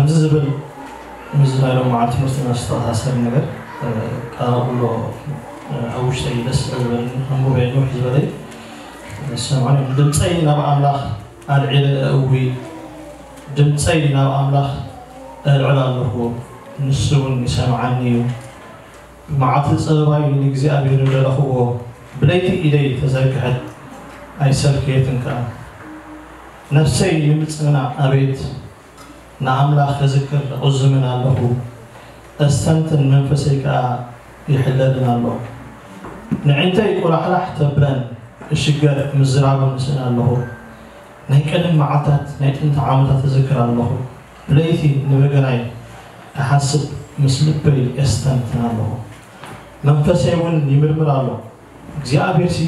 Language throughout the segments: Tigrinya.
ከምዚ ዝብል ምስዚ ናይ ሎም መዓልቲ ትምህርትና ዝተኣሳሰር ነገር ቃል ኣሎ። ኣብ ውሽጠይ ደስ ዝበለኒ ከንብቦ እየ። ንውሕ ዝበለይ ሰምዑኒ። ድምፀይ ናብ ኣምላኽ ኣልዒለ እእዊ፣ ድምፀይ ናብ ኣምላኽ እልዕል ኣለኹ፣ ንሱ እውን ይሰምዓኒ እዩ። ብመዓልቲ ጸበባይ ንእግዚኣብሔር ደለኽዎ፣ ብለይቲ ኢደይ ተዘርግሐት ኣይሰልከየትን ከኣ። ነፍሰይ ንምጽንና ኣቤት፣ ንኣምላኽ ክዝክር እቕዝምን ኣለኹ፣ እስተንትን መንፈሰይ ከኣ ይሕለልን ኣሎ። ንዒንተይ ቁላሕላሕ ተብለን እሽገር ምዝራቡ ንስእን ኣለኹ። ናይ ቀደም መዓልታት ናይ ጥንቲ ዓመታት እዝክር ኣለኹ። ብለይቲ ንበገናይ ክሓስብ ምስ ልበይ የስተንትን ኣለኹ። መንፈሰይ እውን ይምርምር ኣሎ። እግዚኣብሔርሲ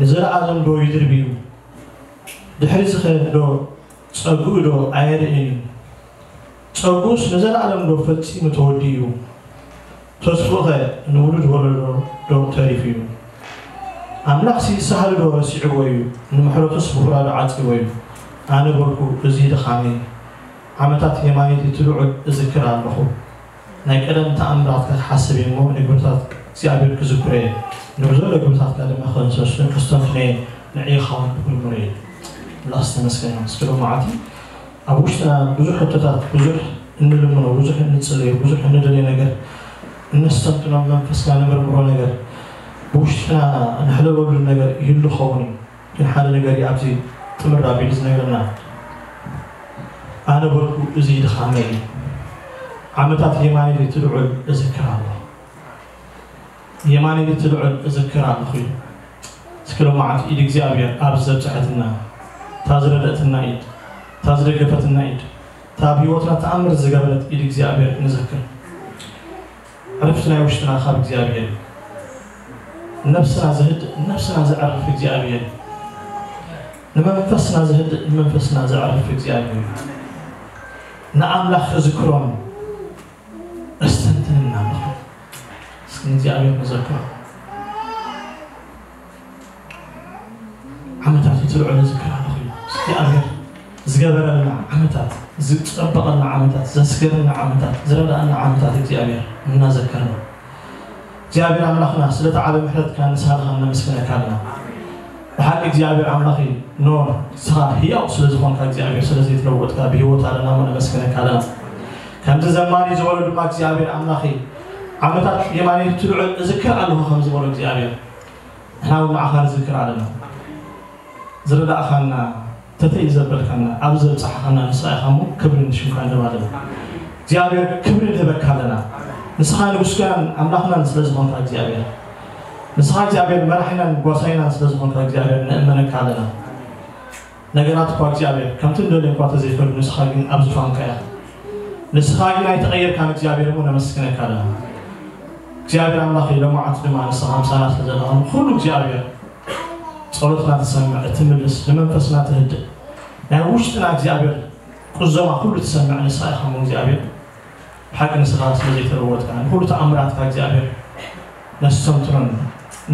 ንዘለኣለም ዶ ይድርብ እዩ? ድሕሪ ዝኸ ዶ ጸግኡ ዶ ኣየርእን እዩ? ጸግኡስ ንዘለኣለም ዶ ፈጺሙ ተወዲኡ እዩ? ተስፉኸ ንውሉድ ወለዶ ዶ ተሪፉ እዩ? ኣምላኽሲ ሳህሊ ዶ ረሲዕዎ እዩ? ንምሕረቱስ ብኹራዶ ዓጺዎ እዩ? ኣነ በልኩ፣ እዚ ድኻመይ። ዓመታት የማነይቲ ትልዑል እዝክር ኣለኹ። ናይ ቀደም ተኣምራትካ ክሓስብ እየ እሞ፣ ንግብርታት እግዚኣብሔር ክዝክሮ እየ። ንብዘሎ ግብርታትካ ድማ ከንሰሱን ከስተንትኖ እየ። ንዕኻ እውን ክምርምሮ እየ። ኣምላኽ ዝተመስገነ ይኹን። እስኪ ሎማዓንቲ ኣብ ውሽጥና ብዙሕ ሕቶታት፣ ብዙሕ እንልምኖ፣ ብዙሕ እንጽለዮ፣ ብዙሕ እንደልዮ ነገር፣ እነስተንትኖ፣ መንፈስና ንምርምሮ ነገር፣ ብውሽጥና ንሕለበሉ ነገር ይህሉ ኸውን እዩ። ግን ሓደ ነገር እዩ ኣብዚ ጥምር ኣቢሉ ዝነግረና። ኣነ በልኩ፣ እዚ ድኻመይ እዩ። ዓመታት የማነይቲ ትልዑል እዝክር ኣለኹ። የማነይቲ ትልዑል እዝክር ኣለኹ እዩ። እስኪ ሎማዓንቲ ኢድ እግዚኣብሔር ኣብዚ ዘብጽሐትና፣ እታ ዝረደእትና ኢድ፣ እታ ዝደገፈትና ኢድ፣ እታ ኣብ ህይወትና ተኣምር ዝገበረት ኢድ እግዚኣብሔር ንዘክር። ዕረፍቲ ናይ ውሽጥና ካብ እግዚኣብሔር እዩ። ነብስና ዝህድእ፣ ነብስና ዘዕርፍ እግዚኣብሔር እዩ። ንመንፈስና ዝህድእ፣ ንመንፈስና ዘዕርፍ እግዚኣብሔር እዩ። ንኣምላኽ ክዝክሮን እስተንትንን ኣለኹ። እስኪ ንእግዚኣብሔር ንዘክሮ። ዓመታቱ ትልዑል እዝክር ኣለኹ እዩ። እግዚኣብሔር ዝገበረልና ዓመታት፣ ዝጸበቐልና ዓመታት፣ ዘስገረና ዓመታት፣ ዝረዳእና ዓመታት እግዚኣብሔር እናዘከርና። እግዚኣብሔር ኣምላኽና ስለቲ ዓቢ ምሕረትካ ንስኻ ነመስግነካ ኣለና። ብሓቂ እግዚኣብሔር ኣምላኽ እዩ። ኖ ንስኻ ህያው ስለ ዝኾንካ እግዚኣብሔር ስለ ዘይተለወጥካ ብህይወት ኣለና እሞ ነመስግነካ ኣለና። ከምዚ ዘማሪ ዝበሎ ድማ እግዚኣብሔር ኣምላኽ እዩ። ዓመታት የማነይቲ ትልዑል እዝክር ኣለኹ ከም ዝበሎ እግዚኣብሔር ንሕና እውን ንዓኻ ንዝክር ኣለና። ዝረዳእኻና፣ ተተይ ዘበልካና፣ ኣብዚ ዘብጻሕኻና ንስኻ ኢኻ እሞ ክብሪ ንሽምካ ንህብ ኣለና። እግዚኣብሔር ክብሪ ንህበካ ኣለና። ንስኻ ንጉስናን ኣምላኽናን ስለ ዝኾንካ እግዚኣብሔር፣ ንስኻ እግዚኣብሔር መራሒናን ጓሳይናን ስለ ዝኾንካ እግዚኣብሔር ንእመነካ ኣለና። ነገራት እኳ እግዚኣብሔር ከምቲ እንደልዮ እኳ ተዘይፈዱ ንስኻ ግን ኣብ ዙፋንካ ኢኻ። ንስኻ ግን ኣይተቐየርካን እግዚኣብሔር እሞ ነመስግነካ ኣለና። እግዚኣብሔር ኣምላኽ ሎማዓንቲ ድማ ንስኻ ምሳና ስለ ዘለኻ ንኹሉ እግዚኣብሔር ጸሎትና ትሰምዕ፣ እትምልስ፣ ንመንፈስና ትህድእ፣ ናይ ውሽጥና እግዚኣብሔር ቁዘማ ኩሉ ትሰምዕ ንስኻ ኢኻ እሞ እግዚኣብሔር ብሓቂ ንስኻ ስለ ዘይተለወጥካ ንኹሉ ተኣምራትካ እግዚኣብሔር ነስተንትኖን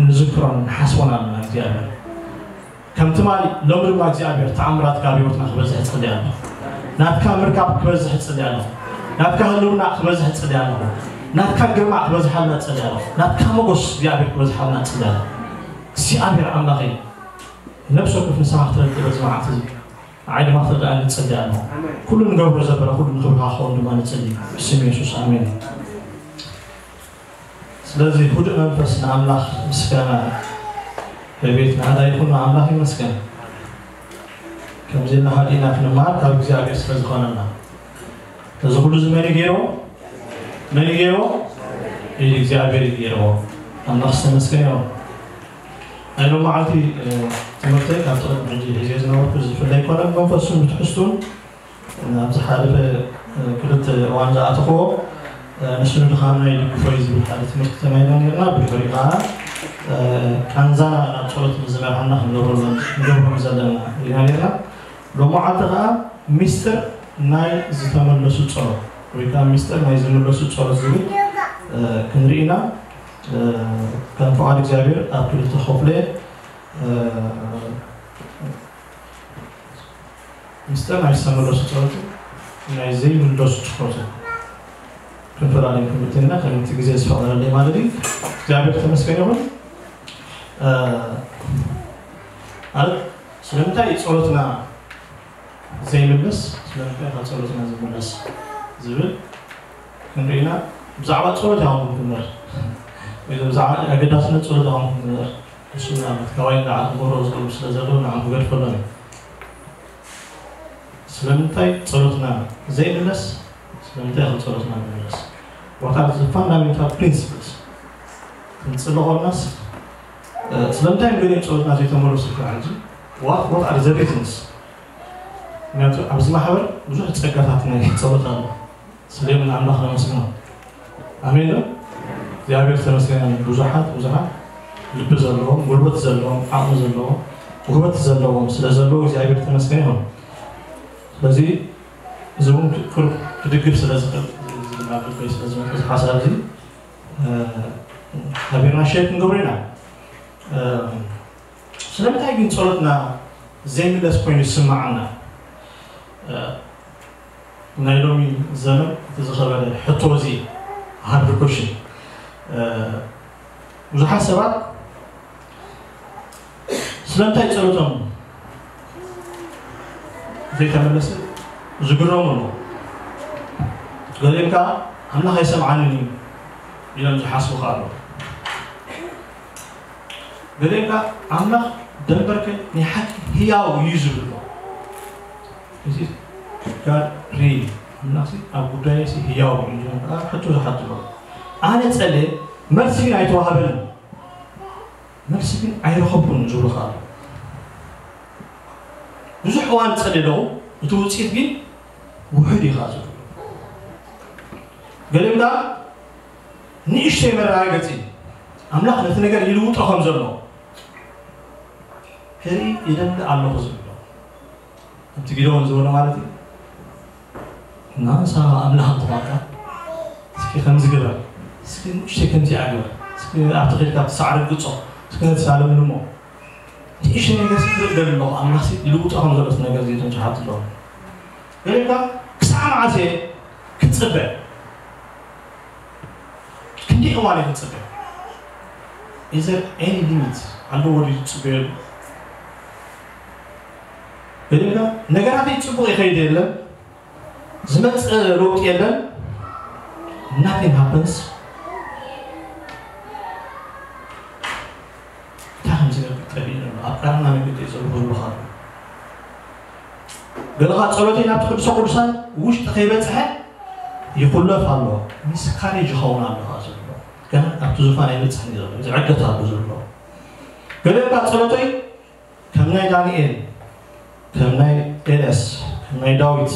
ንዝክሮን ንሓስቦን ኣለና እግዚኣብሔር። ከም ትማሊ ሎሚ ድማ እግዚኣብሔር ተኣምራትካ ኣብ ህይወትና ክበዝሕ እጸሊ ኣለኹ። ናትካ ምርካብ ክበዝሕ እጸሊ ኣለኹ። ናትካ ህልውና ክበዝሕ እጸሊ ኣለኹ። ናትካ ግርማ ክበዝሓልና እጸሊ ኣለኹ። ናትካ መጎስ እግዚኣብሔር ክበዝሓልና እጸሊ ኣለኹ። እግዚኣብሔር ኣምላኸይ ነብሲ ወከፍ ንስኻ ክትረድእ በዚ መዓልቲ እዚ ንዓይ ድማ ክትረድኣኒ እጸሊ ኣለኹ። ኩሉ ንገብሮ ዘበለ ኩሉ ንኽብርኻ ክኸውን ድማ ንጸሊ ብስም የሱስ ኣሜን። ስለዚ ህዱእ መንፈስ ንኣምላኽ ምስጋና ዕቤት ናህዳ ይኹን። ኣምላኽ ይመስገን። ከምዚ ኢልና ሃዲእና ክንመሃር ካብ እግዚኣብሔር ስለ ዝኾነና። እዚ ኩሉ እዚ መን እዩ ገይርዎ? መን እዩ ገይርዎ? ኢድ እግዚኣብሔር እዩ ገይርዎ። ኣምላኽ ዝተመስገነ ይኹን። ናይ ሎም መዓልቲ ትምህርተይ ካብቲ ቅድሚ ሕጂ ሒዘ ዝነበርኩ ዝፍለ ኣይኮነን። መንፈሱን ብትሕዝቱን ኣብዚ ሓለፈ ክልተ እዋን ዝኣተኽዎ ንስኑ ድኻምና ይድግፎ እዩ ዝብል ሓደ ትምህርቲ ተማሂርና ነርና። ብድሕሪኡ ከዓ ቃንዛና ናብ ጸሎት ምስ ዝመርሓና ክንገብሮ ክንገብሮም ዘለና ኢና ነርና። ሎማዓልቲ ከዓ ሚስጥር ናይ ዝተመለሱ ጸሎት ወይ ከዓ ሚስጥር ናይ ዝምለሱ ጸሎት ዝብል ክንርኢ ኢና። ከም ፍቓድ እግዚኣብሔር ኣብ ክልተ ከፍሎ እየ። ምስጢር ናይ ዝተመለሱ ጸሎት ናይ ዘይምለሱ ጸሎት ክንፈላለዮም ክንብል ኢና፣ ከምቲ ግዜ ዝፈቕደለይ ማለት እዩ። እግዚኣብሔር ተመስገን ይኹን። እ፣ ማለት ስለምንታይ ጸሎትና ዘይምለስ፣ ስለምንታይ ካብ ጸሎትና ዝምለስ ዝብል ክንርኢ ኢና። ብዛዕባ ጸሎት ኢና ክንምር፣ ወይ ብዛዕባ ኣገዳስነት ጸሎት ኢና ክንምር። እሱ ምናልባት ካባይ ንላዕሊ ክገብሮ ዝኽእሉ ስለ ዘለዉ ንዓም ክገድፈሎም እዩ። ስለምንታይ ጸሎትና ዘይምለስ? ስለምንታይ ከም ጸሎትና ንምለስ? What are the fundamental principles? ክንጽልኦ ከለናስ፣ እ፣ ስለምንታይ እዮም ገሊኦም ጸሎትና ዘይተመለሱ ኢልካ ሕጂ? What, what are the reasons? ምክንያቱ ኣብዚ ማሕበር ብዙሕ ጸጋታት ናይ ጸሎት ኣሎ። ስለዚ ንኣምላኽ ነመስግኖ። ኣሜን ዶ? እግዚኣብሔር ተመስገን። ብዙሓት፣ ብዙሓት ልቢ ዘለዎም፣ ጉልበት ዘለዎም፣ ዓቕሚ ዘለዎም፣ ውህበት ዘለዎም ስለ ዘለዉ እግዚኣብሔር ተመስገን ይኹን። ስለዚ እዚ እውን ክ-፣ ክድግፍ ስለ ዝኽእል፣ እዚ ድማ ኣብ ልበይ ስለ ዝመጽእ፣ እዚ ሓሳብ እዚ፣ እ፣ ሓቢርና ሼር ክንገብሮ ኢና። እ፣ ስለምንታይ ግን ጸሎትና ዘይምለስ ኮይኑ ይስምዓና? እ፣ ናይ ሎሚ ዘመን እቲ ዝኸበረ ሕቶ እዚ፣ ሃርድ ኮሽን። እ፣ ብዙሓት ሰባት ስለምንታይ ጸሎቶም ዘይተመለሰ ዝግረሙ ኣለዉ። ገሊኦም ከኣ ኣምላኽ ኣይሰምዓንን እዩ ኢሎም ዝሓስቡ ከኣ ኣለዉ። ገሊኦም ከኣ ኣምላኽ ደንበርከ ናይ ሓቂ ህያው እዩ ዝብሉ ኣለዉ። እዚ ጋድ ሪል ኣምላኽሲ ኣብ ጉዳየሲ ህያው እዩ ዝብል ከኣ ሕቶ ዝሓቱ ኣለዉ። ኣነ ጸልየ መልሲ ግን ኣይተዋህበንን። መልሲ ግን ኣይረኸብኩን ዝብሉ ከኣ ኣለዉ። ብዙሕ እዋን ጸልየ ኣለኹ፣ እቲ ውጽኢት ግን ውሑድ እዩ ከኣ ዝብሉ። ገሊኦም ከኣ ንእሽተይ መረጋገጺ ኣምላኽ ነቲ ነገር ይልውጦ ከም ዘሎ ክርኢ ይደሊ ኣለኹ ዝብሉ ኣለዉ። ከምቲ ጊደዎን ዝበሎ ማለት እዩ። እና ንስኻ ኣምላኽ እንተኾንካ፣ እስኪ ከምዚ ግበር፣ እስኪ ንእሽተይ ከምዚኣ ግበር፣ እስኪ ኣብቲ ኸይድካ ኣብቲ ሳዕሪ ግጾ፣ እስኪ ነቲ ሳለም ልሞ። ንእሽተይ ነገር እስኪ ክርኢ እደሊ ኣለኹ፣ ኣምላኽሲ ይልውጦ ከም ዘሎ እቲ ነገር እዚ እቶም ዝሓቱ ኣለዉ። ገሊኦም ከኣ ክሳዕ መዓስ እየ ክጽበ? ክንደይ እዋን እየ ክጽበ? Is there any limit? ኣለዎ ድዩ ዝጽበየሉ? ገሊኦም ከኣ ነገራተይ ጽቡቕ ይኸይድ የለን፣ ዝመጽእ ለውጢ የለን፣ nothing happens። እንታይ ከም ዝገብር ጠፊእኒ ኣሎ፣ ኣብ ቀራና መገዲ እየ ዘለኹ ዝብሉ ከኣ ኣለዉ። ገለ ከኣ ጸሎተይ ናብቲ ቅዱሰ ቅዱሳን ውሽጢ ከይበጽሐ ይኹለፍ ኣሎ፣ ሚስካሬጅ ይኸውን ኣሎ ከኣ ዝብሉ ኣለዉ። ገና ኣብቲ ዙፋን ኣይበጽሐን እዩ ዘሎ፣ ዝዕገት ኣሎ ዝብሉ ኣለዉ። ገለ ከኣ ጸሎተይ ከም ናይ ዳንኤል፣ ከም ናይ ኤልያስ፣ ከም ናይ ዳዊት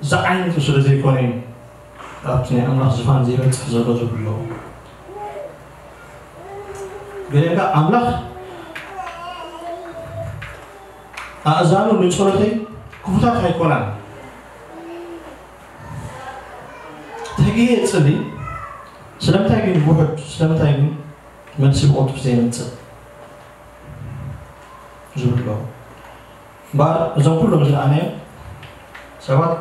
ዝዓይነቱ ስለ ዘይኮነ እዩ ኣብቲ ናይ ኣምላኽ ዝፋን ዘይበጽሕ ዘሎ ዝብሉ ኣለዉ። ገሊኦም ከኣ ኣምላኽ ኣእዛኑ ንጸሎተይ ክፉታት ኣይኮናን። ተጊሄ እጽሊ፣ ስለምንታይ ግን ውሑድ፣ ስለምንታይ ግን መልሲ ብቕልጡፍ ዘይመጽእ ዝብሉ ኣለዉ። እምበኣር እዞም ኩሎም ዝረኣናዮም ሰባት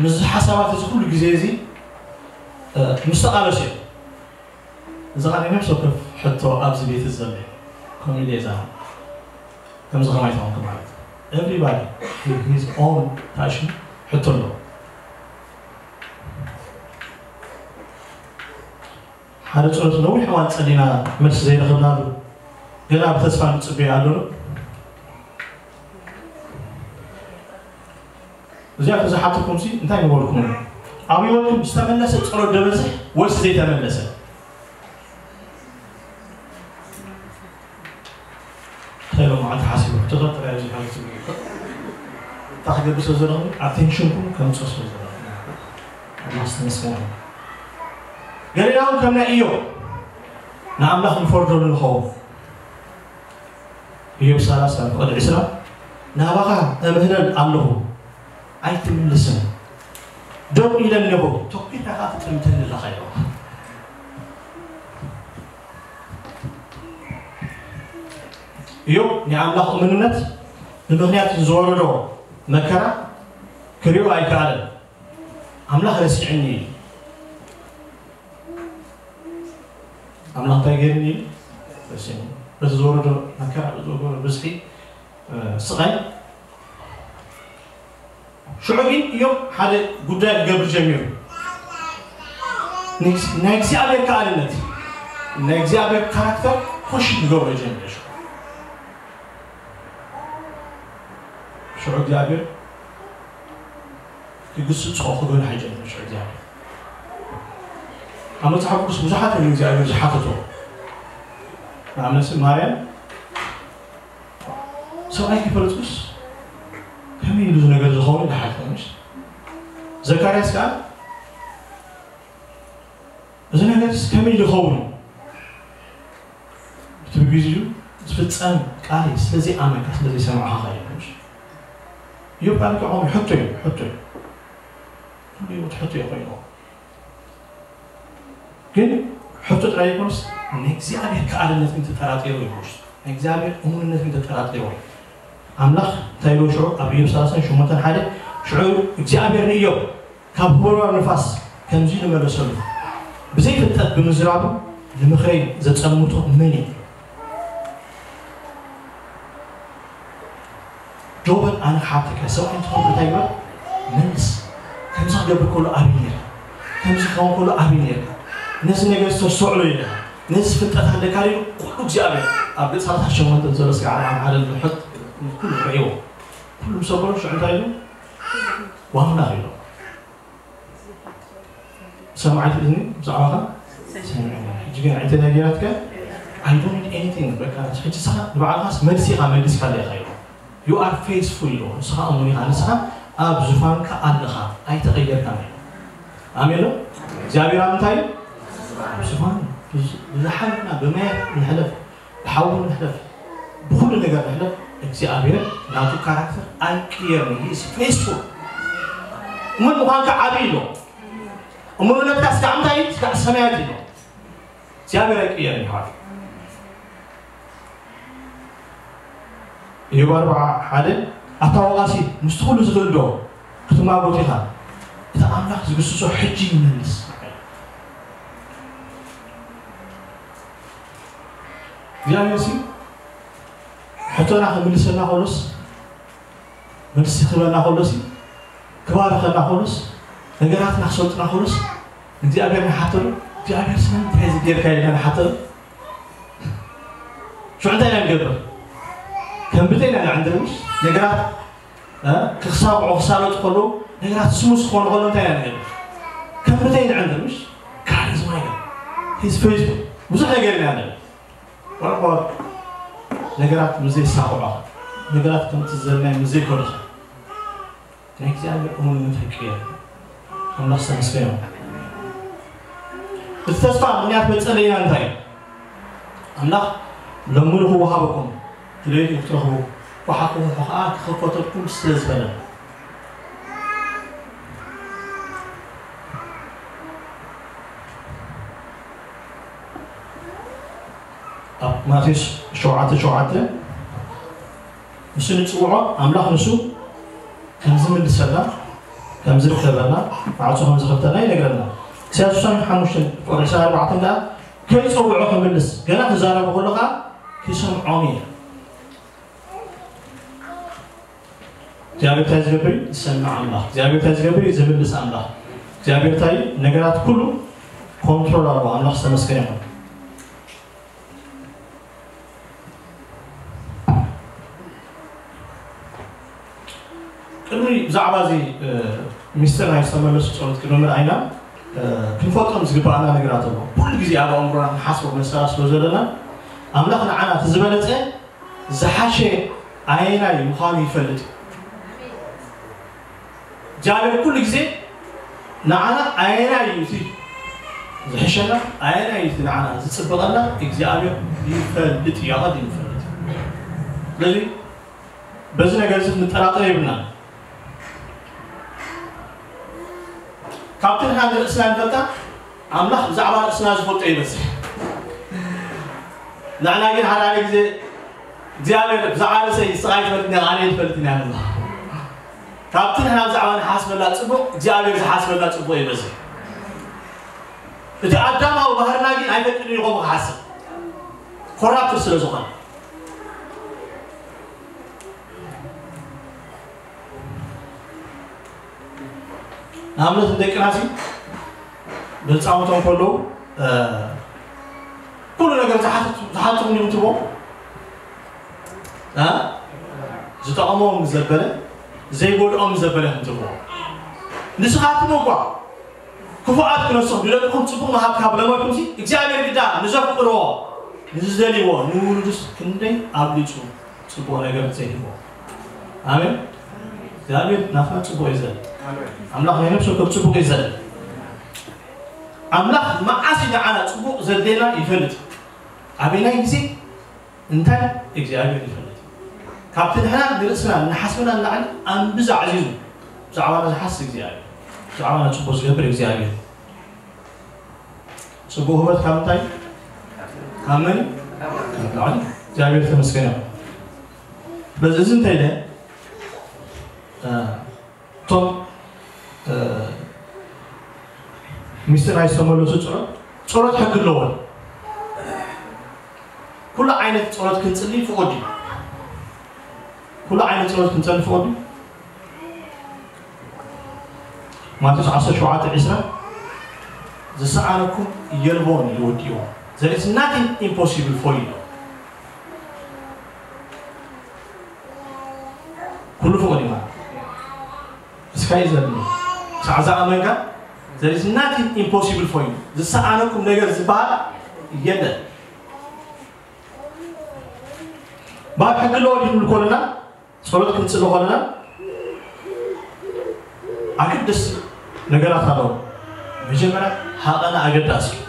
ምስዚ ሓሳባት እዚ ኩሉ ግዜ እዚ፣ እ፣ ምስ ተቓለሱ እዮም። እዚ ኸኣ ናይ ነፍሲ ወከፍ ሕቶ ኣብዚ ቤት እዚ ዘሎ እዩ። ከምኡ ኢለ እየ ዝኣምን። ከምዚ ከማይ ተኾንኩ ማለት እዩ። Everybody his own passion ሕቶ ኣለዎ። ሓደ ጸሎት ነዊሕ እዋን ጸሊና መልሲ ዘይረኸብናሉ፣ ገና ብተስፋ ንጽበዮ ኣሎ። እዚኣ ተዝሓተኩም ሲ እንታይ ምበልኩም? ኣብ ህይወትኩም ዝተመለሰ ጸሎት ዶ በዝሕ ወይስ ዘይተመለሰ? እንታይ ኢሎም መዓልቲ ሓሲቡ ሕቶታት ጥራይ ኣብዚ ሓሲቡ እዩ። እንታይ ክገብር ስለ ዘለኹም? ኣቴንሽንኩም ከምጽኦ ስለ ዘለኹም። ኣምላኽ ዝተመስገነ ይሁን። ገሊና እውን ከም ናይ ኢዮብ ንኣምላኽ ንፈርደሉ ንኸውን። ኢዮብ ሰላሳ ፍቕዲ ዕስራ፣ ናባኻ እምህለል ኣለኹ ኣይትምልስን፣ ደው ኢለ ኣለኹ ተኲርካ ከኣ ትጥምተኒ ኣለኻ ኢሉ። ኢዮብ ናይ ኣምላኽ እሙንነት ብምኽንያት ዝወረዶ መከራ ክሪኦ ኣይከኣለን። ኣምላኽ ረሲዕኒ እዩ። ኣምላኽ እንታይ ገይርኒ እዩ? ረሲዕኒ። በቲ ዝወረዶ መከራ፣ በቲ ዝወረዶ ብዝሒ፣ እ፣ ስቓይ፣ ሽዑ ግን እዮም ሓደ ጉዳይ ክገብር ጀሚሩ። ናይ እግዚኣብሔር ከኣልነት፣ ናይ እግዚኣብሔር ካራክተር ኮሽ ክገብሮ ጀሚሩ። ሽዑ፣ ሽዑ እግዚኣብሔር ክግስጾ ክገንሖ ጀሚሩ። ሽዑ እግዚኣብሔር ኣብ መጽሓፍ ቅዱስ ብዙሓት እዮም እግዚኣብሔር ዝሓተቶ። ንኣብነት ማርያም ሰብኣይ ከይፈለጥኩስ ከመይ ኢሉ እዚ ነገር ዝኸውን? ኢላ ሓተተት። ዘካርያስ ከኣ እዚ ነገርስ ከመይ ኢሉ ይኸውን? እቲ ብግዜኡ ዝፍጸም ቃል እዩ፣ ስለ ዘይኣመንካ፣ ስለ ዘይሰማዕካ ኢሉ። እዮብ ከኣ ልክዕ ከምኡ ሕቶ እዩ፣ ሕቶ እዩ። ኩሉ ህይወት ሕቶ እዩ ኮይኑ። ግን ሕቶ ጥራይ ኣይኮነስ፣ ናይ እግዚኣብሔር ከኣልነት ግን ተጠራጢሩ እዩ። ናይ እግዚኣብሔር እሙንነት ግን ተጠራጢሩ እዩ። ኣምላኽ እንታይ ኢሉ ሽዑ ኣብ ኢዮብ ሰላሳን ሸሞንተን ሓደ? ሽዑ እግዚኣብሔር ንኢዮብ ካብ ህወርዋር ንፋስ ከምዚ ኢሉ መለሰሉ፣ "ብዘይፍልጠት ብምዝራቡ ንምኽረይ ዘጸምቶ መን እዩ?" ጆብን ኣነ ክሓተካ፣ ሰብኣይ እንትኸውን እንታይ ይግበር? መልስ። ከምዚ ክገብር ከሎ ኣበይ ነይርካ? ከምዚ ክኸውን ከሎ ኣበይ ነይርካ? ነዚ ነገር ዝተስተውዕሎ ኢለካ፣ ነዚ ፍልጠት ኣለካ ኢሉ ኩሉ እግዚኣብሔር ኣብ ገጽ ሰላሳ ሸሞንተ ዘሎ ስጋዕ ኣብ ሓደ ንሕጥ ኩሉ ርእይዎ። ኩሉ ምስ ኣበሎ ሽዑ እንታይ ኢሉ? ዋምላኽ ኢሉ። ሰማዒት እዝኒ ብዛዕባኻ ሰሚዐ። ሕጂ ግን እንታይ ገይራትካ? I don't need anything። በቃ ሕጂ ንስኻ ንባዕልኻስ መልሲ ኢኻ መሊስካለይ ኢኻ ኢሉ። You are faithful ኢሉ። ንስኻ እሙን ኢኻ። ንስኻ ኣብ ዙፋንካ ኣለኻ። ኣይተቐየርካን ኢሉ። ኣሜን ዶ? እግዚኣብሔር ኣብ ምንታይ እዩ? ኣብ ዙፋን። ብዝሓልና ብማያት ንሕለፍ፣ ብሓዊ ንሕለፍ፣ ብኹሉ ነገር ንሕለፍ፣ እግዚኣብሔር ናቱ ካራክተር ኣይቅየርን። He is faithful። እሙን ምዃንካ ዓቢ ኢሉ። እሙንነትካ እስካዕ እንታይ እዩ? እስካዕ ሰማያት እዩ። እግዚኣብሔር ኣይቅየርን ይሓት። ኢዮብ ኣርብዓ ሓደ፣ ኣታ ወቓሲ ምስቲ ኩሉ ዝኽእል ዶ ክትማጎት ኢኻ? እቲ ኣምላኽ ዝግስጾ ሕጂ ይመልስ። እግዚኣብሔር ሲ ሕቶና ክምልሰልና ከሎስ፣ መልሲ ክህበና ከሎሲ፣ ክባርኸና ከሎስ፣ ነገራትና ክሰልጡና ከሎስ፣ ንእግዚኣብሔር ንሓተሉ። እግዚኣብሔር ስለ እንታይ እዚ ጌርካ ኢልና ንሓተሉ። ሽዑ እንታይ ኢና ንገብር? ከም ብተይ ኢና ንዕንድር ምሽ? ነገራት፣ እ፣ ክሳብዑ ክሳለጡ ከለዉ፣ ነገራት ስሙስ ክኾኑ ከለዉ እንታይ ኢና ንገብር? ከም ብተይ ንዕንድር ምሽ? God is my God. He's faithful። ብዙሕ ነገር ኢና ንገብር። What about ነገራት ምስ ዘይሳኽዑኻ? ነገራት ከምቲ ዘለናዮ ምስ ዘይከዱኻ? ናይ እግዚኣብሔር እሙንነት ኣይቅየር። ኣምላኽ ዝተመስገነ ይኹን። እቲ ተስፋ ምኽንያት መጸለይና እንታይ እዩ? ኣምላኽ ለምኑ ክወሃበኩም፣ ድለዩ ክትረኽቡ፣ ኳሓኹኹ ኸዓ ክኽፈተልኩም ስለ ዝበለ። ኣብ ማቴዎስ ሸውዓተ ሸውዓተ፣ ንሱ ንጽውዖ ኣምላኽ ንሱ ከም ዝምልሰልና፣ ከም ዝርከበልና፣ ማዕጾ ከም ዝኸፍተልና ይነግረና። ኢሳያስ ዕስራን ሓሙሽተን ቁጽሪ ዕስራን ኣርባዕተን ከኣ ከይጸውዖ ክምልስ፣ ገና ክዛረቡ ከሎ ከኣ ክሰምዖም እዩ። እግዚኣብሔር እንታይ ዝገብር እዩ? ዝሰምዕ ኣምላኽ። እግዚኣብሔር እንታይ ዝገብር እዩ? ዝምልስ ኣምላኽ። እግዚኣብሔር እንታይ እዩ? ነገራት ኩሉ ኮንትሮል ኣለዎ። ኣምላኽ ዝተመስገነ ይኹን። ቅድሚ ብዛዕባ እዚ፣ እ፣ ሚስጥር ናይ ዝተመለሱ ጸሎት ክንምር ኣይና፣ እ፣ ክንፈልጦም ዝግባኣና ነገራት ኣሎ። ኩሉ ግዜ ኣብ ኣእምሮና ክንሓስቦ መሰላት ስለ ዘለና፣ ኣምላኽ ንዓና እቲ ዝበለጸ ዝሓሸ ኣየናይ ምዃኑ ይፈልጥ እዩ። እግዚኣብሔር ኩሉ ግዜ ንዓና ኣየናይ እዩ እቲ ዝሕሸና፣ ኣየናይ እዩ እቲ ንዓና ዝጽብቐና፣ እግዚኣብሔር ይፈልጥ እዩ፣ ኣቐዲሙ ይፈልጥ እዩ። ስለዚ በዚ ነገር እዚ ክንጠራጠር የብልናን። ካብቲ ንሕና ንርእስና ንፈልጣ፣ ኣምላኽ ብዛዕባ ርእስና ዝፈልጦ ይበዝሕ። ንሕና ግን ሓደ ሓደ ግዜ እግዚኣብሔር ብዛዕባ ርእሰይ ንስኻ ኣይትፈልጥን ኢኻ፣ ኣነ ኣይትፈልጥን እያ ንብሎ። ካብቲ ንሕና ብዛዕባ ንሓስበላ ጽቡቕ እግዚኣብሔር ዝሓስበላ ጽቡቕ ይበዝሕ። እቲ ኣዳማዊ ባህርና ግን ኣይፈቅድን እዩ ከምኡ ክሓስብ፣ ኮራፕትድ ስለ ዝኾነ። ንኣብነት ንደቅና ሲ ብህፃውንቶም ከለዉ ኩሉ ነገር ዝሓትኹም ይምትቦ ዝጠቕሞም ዘበለ ዘይጎድኦም ዘበለ ምትቦ። ንስኻትኩም እኳ ክፉኣት ክነስኹ ንደቅኹም ፅቡቕ ምሃብ ካብ ለመድኩም ሲ እግዚኣብሔር ግዳ ንዘፍቅርዎ ንዝደልይዎ ንውሉድስ ክንደይ ኣብሊፁ ፅቡቕ ነገር ዘይህቦ። ኣሜን። እግዚኣብሔር ናትና ፅቡቕ እዩ ዘል ኣምላኽ ናይ ነፍሲ ወከፍ ፅቡቕ እዩ ዘል ኣምላኽ መዓስ ንዓና ፅቡቕ ዘድሌና ይፈልጥ። ኣበናይ ግዜ እንታይ እግዚኣብሔር ይፈልጥ። ካብቲ ንሕና ንርእስና ንሓስብና ንላዕሊ ኣንብዛ ዓዚዙ ብዛዕባና ዝሓስብ እግዚኣብሔር፣ ብዛዕባና ፅቡቕ ዝገብር እግዚኣብሔር። ፅቡቕ ህይወት ካብ እንታይ? ካብ መን? ካብ ላዕሊ። እግዚኣብሔር ተመስገን ይኹን። በዚ እዚ እንታይ ኢለ እቶም ሚስጢር ናይ ዝተመለሱ ፀሎት፣ ፀሎት ሕጊ ኣለዎ። ኩሉ ዓይነት ፀሎት ክንፅሊ ፍቑድ እዩ። ኩሉ ዓይነት ፀሎት ክንፀሊ ፍቑድ እዩ። ማቴዎስ ዓሰርተ ሸውዓተ ዕስራ ዝሰኣነኩም የልቦን ይወድእዎ። There is nothing impossible for you። ኩሉ ፍቑድ እዩ ማለት እስካይ ዘለ ሳዕ ዝኣመንካ there is nothing impossible for you። ዝሰኣነኩም ነገር ዝበሃል የለን። ባብ ሕጊ ኣለዎ ድንብል ኮለና ጸሎት ክንጽሊ ኮለና ኣገደስቲ ነገራት ኣለዉ። መጀመርያ ሃቐና ኣገዳሲ እዩ።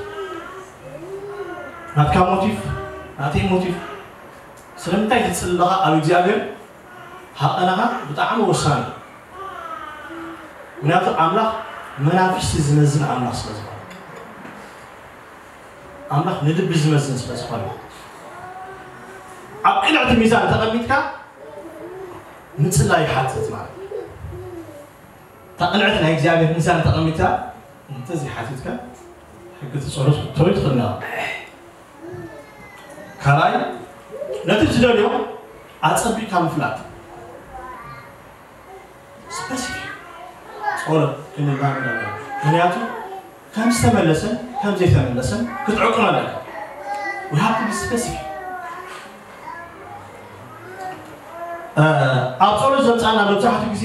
ናትካ ሞቲቭ ናተይ ሞቲቭ ስለምንታይ ትጽሊ ኣለኻ ኣብ እግዚኣብሔር ሃቐናኻ ብጣዕሚ ወሳኒ እዩ። ምክንያቱ ኣምላኽ መናፍስቲ ዝመዝን ኣምላኽ ስለ ዝኾነ ኣምላኽ ንልቢ ዝመዝን ስለ ዝኾነ ኣብ ቅንዕቲ ሚዛን ተቐሚጥካ ምጽላይ ይሓትት ማለት እዩ። እታ ቅንዕቲ ናይ እግዚኣብሔር ሚዛን ተቐሚጥካ እንተዘይሓቲትካ ሕጊ እቲ ጸሎት ክትተዊ ትኽእል ኢኻ። ካልኣይ ነቲ ትደልዮ ኣጸቢቕካ ምፍላጥ። ስፐሲፊክ ጸሎት ክንላመድ ኣለና። ምክንያቱ ከም ዝተመለሰን ከም ዘይተመለሰን ክትዕቅኖ ኣለካ። We have to be specific። ኣብ ጸሎት ዘምጻና መብዛሕትኡ ግዜ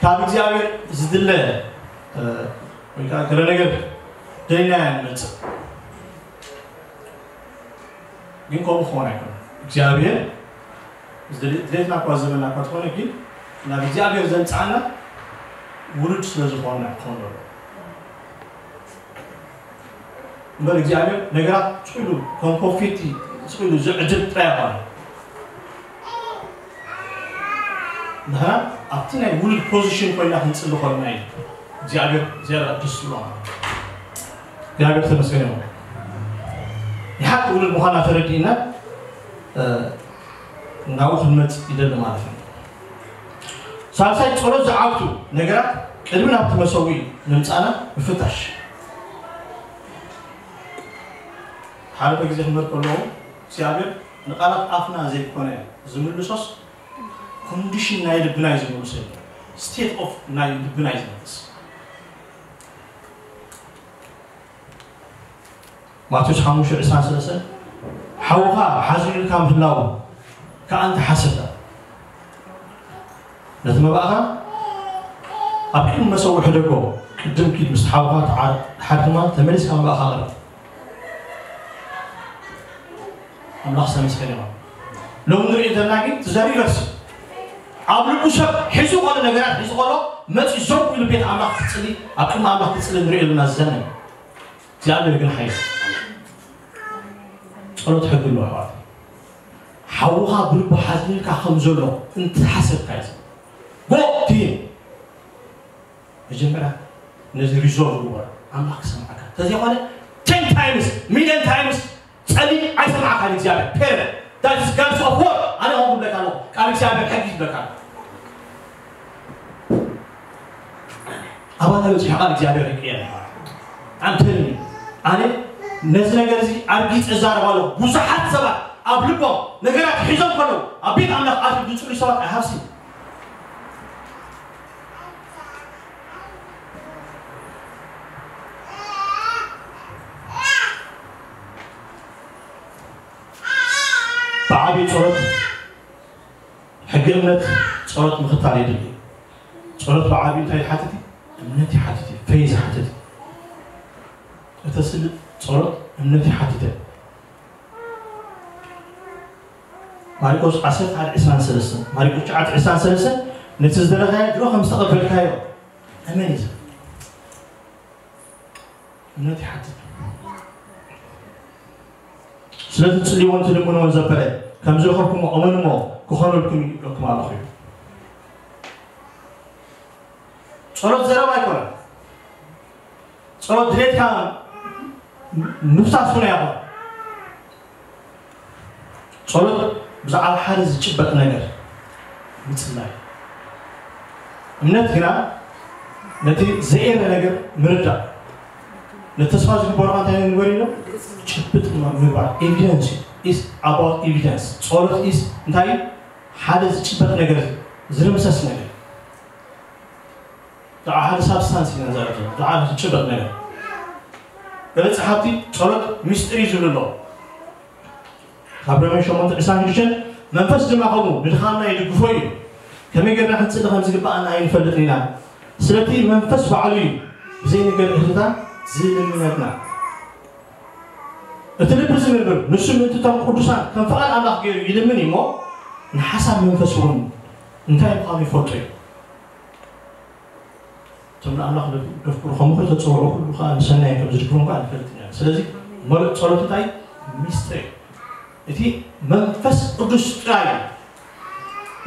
ካብ እግዚኣብሔር ዝድለ ወይ ከዓ ገለ ነገር ደሊናያ ንመጽእ። ግን ከምኡ ክኾን ኣይኮነ እግዚኣብሔር ድሌትና እኳ ዝበና እኳ ትኾነ ግን ናብ እግዚኣብሔር ዘምፅኣና ውሉድ ስለ ዝኾንና ክኾን ዘሎ እምበር እግዚኣብሔር ነገራት ስኢሉ ከም ኮንፌቲ ስኢሉ ዝዕድል ጥራይ ኣይኮነ። ንሕና ኣብቲ ናይ ውሉድ ፖዚሽን ኮይና ክንፅሊ ከለና እዩ እግዚኣብሔር ዝያዳ ደስ ዝብሎ ማለት እዩ። እግዚኣብሔር ተመስገን ይኹን። ንሓቂ ውሉድ ምዃና ተረዲእና ናብኡ ክንመፅእ ይደሊ ማለት እዩ። ሳልሳይ ፀሎት ዝዓግቱ ነገራት ቅድሚ ናብቲ መሰውኢ ምምፃእና ምፍታሽ። ሓደ ግዜ ክመር ከለዉ እግዚኣብሔር ንቃላት ኣፍና ዘይኮነ ዝምልሶስ ኮንዲሽን ናይ ልብና እዩ ዝምልሶ። ስቴት ኦፍ ናይ ልብና እዩ ዝመልስ። ማቴዎስ ሓሙሽተ ዕስራን ሰለስተን ሓውኻ ሓዚኑልካ ምህላው ከዓ እንተሓሰብካ ነቲ መባእኻ ኣብ ቅድሚ መሰውሒ ሕደጎ። ቅድም ኪድ ምስ ሓውኻ ተሓድማ ተመሊስካ መባእኻ ቅረብ። ኣምላኽ ዝተመስገነ ይኹን። ሎም ንሪኦ ዘለና ግን ትዘሪበስ ኣብ ልቡ ሰብ ሒዙ ከሎ ነገራት ሒዙ ከሎ መፂ ዘው ኢሉ ቤት ኣምላኽ ክፅሊ ኣብ ቅድሚ ኣምላኽ ክፅሊ ንሪኦ ዘለና ዝዘነ እግዚኣብሔር ግን ሓይሉ ጸሎት ሕጊ ኣለዎ ኣሕዋት። ሓውኻ ብልቡ ሓዚኑልካ ከም ዘሎ እንተሓሰብካ እዩ። ጎ ትየ መጀመርያ ነዚ ሪዞልቭ ግበር ኣምላኽ ክሰምዓካ እንተዘይኮነ ቴን ታይምስ ሚልዮን ታይምስ ጸሊ ኣይሰምዓካን እግዚኣብሔር ፔረ that is God's of war። እግዚኣብሔር ሕጊ ይበካ። ኣባና በፂሑ ቃል እግዚኣብሔር ይቅየር። ኣንተኒ ኣነ ነዚ ነገር እዚ ኣርጊፅ እዛረብ ኣለኹ። ብዙሓት ሰባት ኣብ ልቦም ነገራት ሒዞም ከለዉ ኣብ ቤት ኣምላኽ ኣት ዝፅሉ ሰባት ኣይሃብሲ። ብዓብዪ ጸሎት ሕጊ እምነት ጸሎት ምኽታል የድሊ። ጸሎት ብዓብዪ እንታይ ይሓትት እዩ? እምነት ይሓትት እዩ። ፈይዝ ይሓትት እዩ። እተስልጥ ጸሎት እምነት ይሓትት እዩ። ማርቆስ ዓሰርተ ሓደ ዕስራን ሰለስተን፣ ማርቆስ ትሽዓተ ዕስራን ሰለስተን፣ ነቲ ዝደለኻዮ ድሮ ከም ዝተቐበልካዮ እመን እዩ። እምነት ይሓትት። ስለዚ ትጽልይዎን ትልምንዎን ዘበለ ከም ዝረኸብኩሞ እመንሞ ክኾነልኩም እዩ ይብለኩም ኣለኹ እዩ። ጸሎት ዘረባ ኣይኮነን። ጸሎት ድሌትካ ምፍሳስ እውን ኣይኮነን። ጸሎት ብዛዕባ ሓደ ዝጭበጥ ነገር ምጽላይ። እምነት ግና ነቲ ዘየለ ነገር ምርዳእ። ነቲ ተስፋ ዝግበሮ እንታይ ንግበር ኢሎ? ጭብጥ ምግባር። Evidence is about evidence። ጸሎት is እንታይ? ሓደ ዝጭበጥ ነገር፣ ዝርምሰስ ነገር። ብዛዕባ ሓደ ሳብስታንስ ኢና ንዛረብ ዘለና፣ ብዛዕባ ዝጭበጥ ነገር። ገለ ጸሓፍቲ ጸሎት ሚስጥር እዩ ዝብሉ ኣለዉ። ካብ ሮሜ ሸሞንተ ዕስራን ሽዱሽተን፣ መንፈስ ድማ ከምኡ ንድኻምና ይድግፎ እዩ። ከመይ ጌርና ክንጽሊ ከም ዝግብኣና ኣይንፈልጥን ኢና። ስለቲ መንፈስ ባዕሉ እዩ ብዘይንገር እህትታ ዝልምነትና። እቲ ልቢ ዝምርምር ንሱ ምእንቲ እቶም ቅዱሳን ከም ፍቓድ ኣምላኽ ገይሩ ይልምን እዩ እሞ፣ ንሓሳብ መንፈስ እውን እንታይ ምዃኑ ይፈልጦ እዩ። እቶም ንኣምላኽ ደፍቅሩ ከም ምኽሪ ተጸውዑ ኩሉ ከኣ ንሰናይ ከም ዝድግፎም ከኣ ንፈልጥ ኢና። ስለዚ መርእ ጸሎት እንታይ? ሚስጥር እዩ። እቲ መንፈስ ቅዱስ ጥራይ እዩ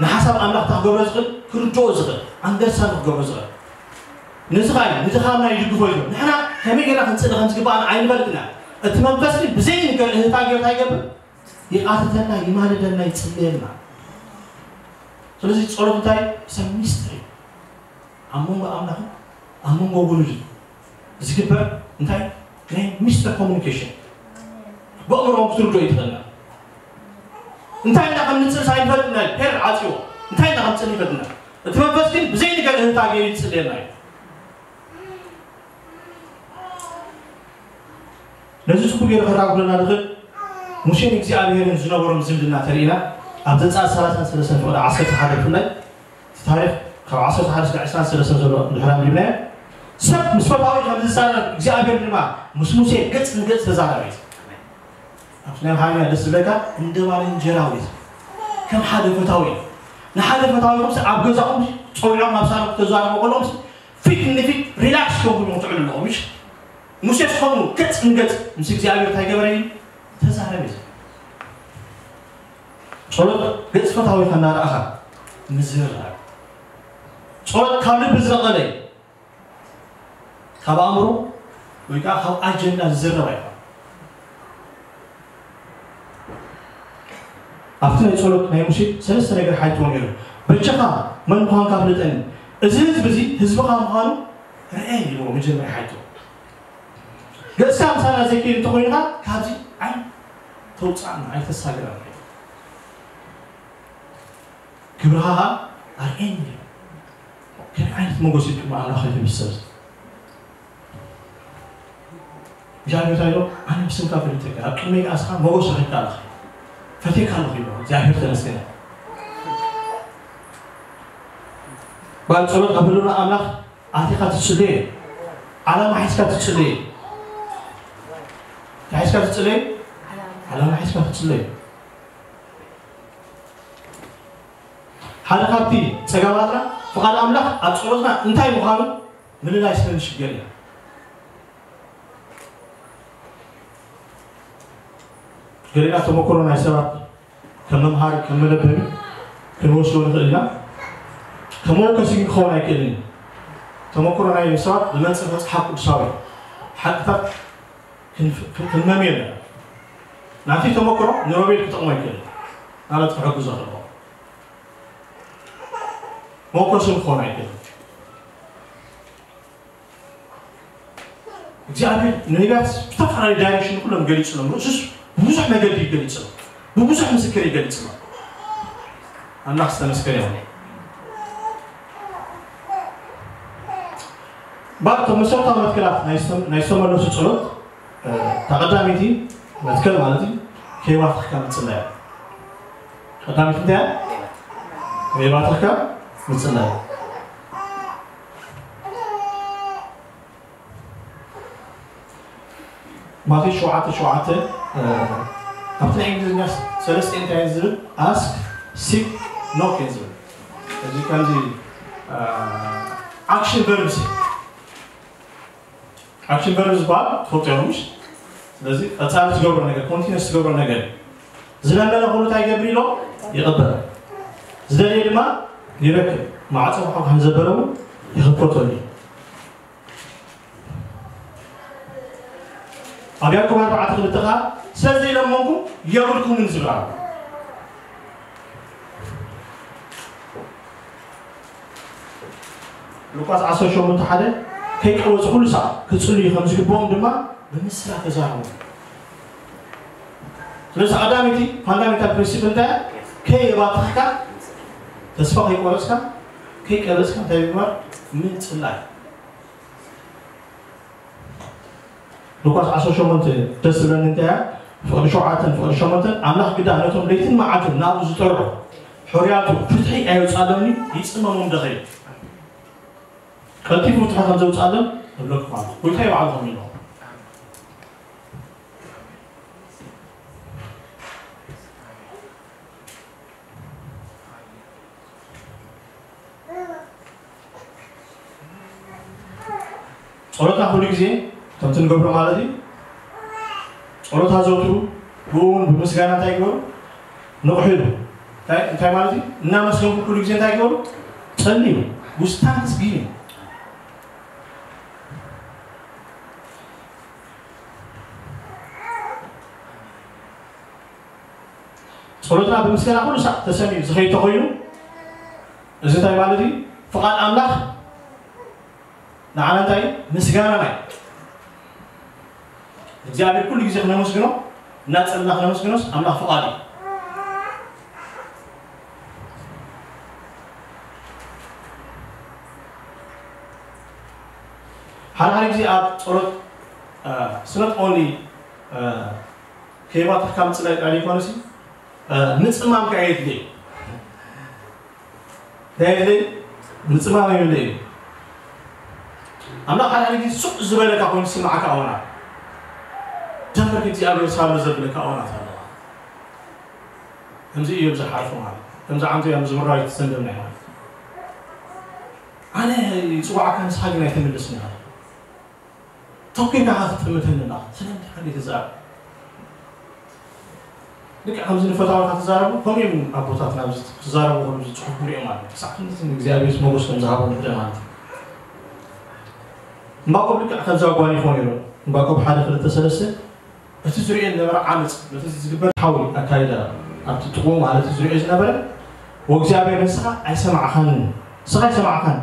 ንሓሳብ ኣምላኽ ክገብሮ ዝኽእል፣ ክርድኦ ዝኽእል፣ ኣንደርስታንድ ክገብሮ ዝኽእል። ነዚ ኸኣ እዩ ንድኻምና ይድግፎ እዩ። ንሕና ከመይ ጌርና ክንጽሊ ከም ዝግብኣና ኣይንፈልጥን ኢና። እቲ መንፈስ ግን ብዘይ ነገር እህታ ጌርታ ይገብር፣ ይቃትተና፣ ይማልደና፣ ይጽልየና። ስለዚ ጸሎት እንታይ? ሰብ ሚስጥር እዩ። ኣብ መንጎ ኣምላኽን ኣብ መንጎ ውሉድን ዝግበር እንታይ? ናይ ሚስጥር ኮሙኒኬሽን። ብኣእምሮ ክትርድኦ ይትኽእልና። እንታይ እንዳ ከም ንጽል ሳይንፈልጥ ናይ ፔር ዓጽዎ። እንታይ እንዳ ከም ንጽል ይፈልጥና። እቲ መንፈስ ግን ብዘይ ነገር እህታ ገይሩ ይጽልየና እዩ። ነዚ ጽቡቕ ገይሩ ከራጉለና ዝኽእል ሙሴን እግዚኣብሔርን ዝነበሮም ዝምድና ተርእና ኣብ ዘጸኣት ሰላሳን ሰለስተን ፍቕዲ ዓሰርተ ሓደ ብፍላይ እቲ ታሪኽ ካብ ዓሰርተ ሓደ እስካብ ዕስራን ሰለስተን ዘሎ ድሕሪ ኣንቢብናዮ። ሰብ ምስ ፈታዊ ከም ዝዛረብ እግዚኣብሔር ድማ ምስ ሙሴ ገጽ ንገጽ ተዛረበ እዩ። ኣብቲ ናይ ኣምሓርኛ ደስ ዝብለካ እንደ ባልንጀራዊ እዩ። ከም ሓደ ፈታዊ እዩ። ንሓደ ፈታዊ ከምሲ ኣብ ገዛኹም ጸዊዖም ኣብ ሳሎን ክተዛረቡ ከለኹም ፊት ንፊት ሪላክስ ኮንኩም ትዕሉ ኣለኹም። እሺ፣ ሙሴስ ከምኡ ገጽ ንገጽ ምስ እግዚኣብሔር እንታይ ገበረ እዩ? ተዛረበ እዩ። ጸሎት ገጽ ፈታዊኻ እናረኣኻ ምዝርራብ። ጸሎት ካብ ልቢ ዝነቐለ እዩ። ካብ ኣእምሮ ወይ ከዓ ካብ ኣጀንዳ ዝዝረብ ኣይኮነን። ኣብቲ ናይ ጸሎት ናይ ሙሴ ሰለስተ ነገር ሓይትዎ ነይሩ። በጃኻ መን ምዃንካ ፍለጠኒ፣ እዚ ህዝቢ እዚ ህዝብኻ ምዃኑ ርአየኒ ኢልዎ መጀመርያ ሓይትዎ። ገጽካ ምሳና ዘይከይድ እንተኾይንኻ ካብዚ ዓይን ተውፅኣና፣ ኣይተሳግረና። ክብርኻ ኸዓ ኣርእየኒ። ከመይ ዓይነት ሞገስ እዩ ቅድሚ ኣምላኽ ይህብ ሰብ? እግዚኣብሔር እንታይ ኢሉ? ኣነ ብስምካ ፈሊጠካ፣ ኣብ ቅድመይ ከኣ ንስኻ ሞገስ ረኺብካ ኣለኻ፣ ፈትየካ ኣለኹ ይብሎ። እግዚኣብሔር ተመስገን። ጓል ጸሎት ኣብ ህልውና ኣምላኽ ኣቲኻ ትጽልዮ። ዓላማ ሒዝካ ትጽልዮ። እንታይ ሒዝካ ትጽልዮ? ዓላማ ሒዝካ ትጽልዮ። ሓደ ካብቲ ጸገማትና ፍቓድ ኣምላኽ ኣብ ጸሎትና እንታይ ምዃኑ ምልላይ ስለ ንሽገር ኢና። ገሊና ተመክሮ ናይ ሰባት ከም መምሃሪ፣ ከም መለበሚ ክንወስዶ ንኽእል ኢና። ከም መወከሲ ግን ክኸውን ኣይክእልን እዩ። ተመክሮ ናይ ሰባት ብመንጽር መጽሓፍ ቅዱሳዊ ሓቅታት ክንፍ-፣ ክንመም የለን። ናብቲ ተመክሮ ንሮቤል ክጠቕሞ ኣይክእልን። ማለት ክሕግዞ ከለኹ። መወከሲ ክኾን ኣይክእልን። እግዚኣብሔር ንነቢያት ብዝተፈላለየ ዳይሬክሽን ኩሎም ገሊፅሎም። ርእሱስ ብብዙሕ መገዲ ይገሊፅሎም፣ ብብዙሕ ምስክር ይገሊፅሎም። ኣምላኽ ዝተመስገነ ይሁን። ባር እቶም መሰረታዊ መትከላት ናይ ዝተመለሱ ፀሎት፣ እታ ቀዳመይቲ መትከል ማለት እዩ ከይባርኽካ ምፅላይ። ቀዳመይቲ እንታይ እያ? ከይባርኽካ ምፅላይ። ማቴዎስ ሸውዓተ ሸውዓተ፣ ኣብቲ ናይ እንግሊዝኛ ሰለስተ እንታይ ዝብል? Ask, seek, knock እዩ ዝብል። እዚ ከምዚ ኣክሽን ቨርብስ እዩ። ኣክሽን ቨርብ ዝበሃል ትፈልጡ ኢኹም ምሽ? ስለዚ ቀጻሊ ትገብሮ ነገር፣ ኮንቲነስ ትገብሮ ነገር እዩ። ዝለመነ ኩሉ እንታይ ይገብር ኢሎ? ይቕበል። ዝደልየ ድማ ይረክብ። ማዕጾ ብሓው ከም ዘበለ እውን ይኽፈተሉ እዩ። ኣብ ያዕቆብ ኣርባዕተ ክልተ ኸዓ ስለ ዘይለመንኩም የብልኩምን ዝብል ኣሎ። ሉቃስ ዓሰርተ ሸሞንተ ሓደ ከይቀወጹ ኩሉ ሳዕ ክጽልዩ ከም ዝግብኦም ድማ ብምስላ ተዛረቡ። ስለዚ ቀዳመይቲ ፋንዳሜንታል ፕሪንሲፕል እንታይ እያ? ከየባትኽካ፣ ተስፋ ከይቆረጽካ፣ ከይቀረጽካ እንታይ ምግባር? ምጽላይ። ሉቃስ ዓሰርተ ሸሞንተ ደስ ዝብለኒ እንታይ እያ? ፍቕዲ ሸውዓተን ፍቕዲ ሸሞንተን ኣምላኽ ግዳ ነቶም ለይትን መዓልትን ናብኡ ዝጠርዑ ሕሩያቱ ፍትሒ ኣየውጻሎምን ይጽመሞም ደኸዩ። ቀልጢፉ ፍትሒ ከም ዘውጻሎም እብለኩም ኣለኹ። ጎይታ ይባዕልኹም ኢሎ። ጸሎትና ኩሉ ግዜ ከምቲ ንገብሮ ማለት እዩ። ጸሎት ኣዘውትሩ፣ ብኡ እውን ብምስጋና እንታይ ግበሩ? ንቕሑ ኢሉ። እንታይ እንታይ ማለት እዩ? እናመስገንኩም ኩሉ ግዜ እንታይ ግበሩ? ጸልዩ። With thanksgiving። ጸሎትና ብምስጋና ኩሉ ሳዕ ተሰሚዑ ዝኸይድ ተኾይኑ፣ እዚ እንታይ ማለት እዩ? ፍቓድ ኣምላኽ ንዓና እንታይ እዩ? ምስጋናና እዩ። እግዚኣብሔር ኩሉ ግዜ ክነመስግኖ፣ እናጸለና ክነመስግኖስ ኣምላኽ ፍቓድ እዩ። ሓደ ሓደ ግዜ ኣብ ጸሎት፣ it's not only ከይባትኽካ ምጽላይ ጥራይ ዘይኮነሲ፣ ምጽማም ከኣ የድሊ እዩ። እንታይ የድሊ? ምጽማም የድሊ እዩ። ኣምላኽ ሓደ ሓደ ግዜ ሱቕ ዝበለካ ኮይኑ ዝስምዓካ እዋናት፣ ደንበርክ እግዚኣብሔር ሳሎ ዘብለካ እዋናት ኣለዋ። ከምዚ እዮም ዝሓልፉ ማለት እዩ። ከምዚ ዓንቱ እዮም ዝምራዊ ትሰንደም ናይ ማለት እዩ። ኣነ ይጽዋዕካ ንስኻ ግን ኣይትምልስን ኢኻ። ተኲርካ ክትጥምተኒ ኣለኻ። ስለምንታይ ሓንቲ ትዛረብ? ልክዕ ከምዚ ንፈታውካ ትዛረቡ፣ ከምኡ እዮም ኣቦታትና ኣብዚ ክዛረቡ ከለዉ ዝጽሑፉ ንሪኦም ኣለና። ክሳዕ ክንድዚ ንእግዚኣብሔር ሞገስ ከም ዝሃቦም ንርኢ ማለት እዩ። ዕንባቆም ልክዕ ከምዚ ኣጓኒፎ ነይሩ። ዕንባቆም ሓደ ክልተ ሰለስተ፣ እቲ ዝርእዮ ዝነበረ ዓመጽ፣ በቲ ዝግበር ሓዊ ኣካይዳ ኣብቲ ጥቕኡ ማለት ዝርእዮ ዝነበረ፣ ወእግዚኣብሔር ንስኻ ኣይሰማዕኻንን፣ ንስኻ ኣይሰማዕኻን፣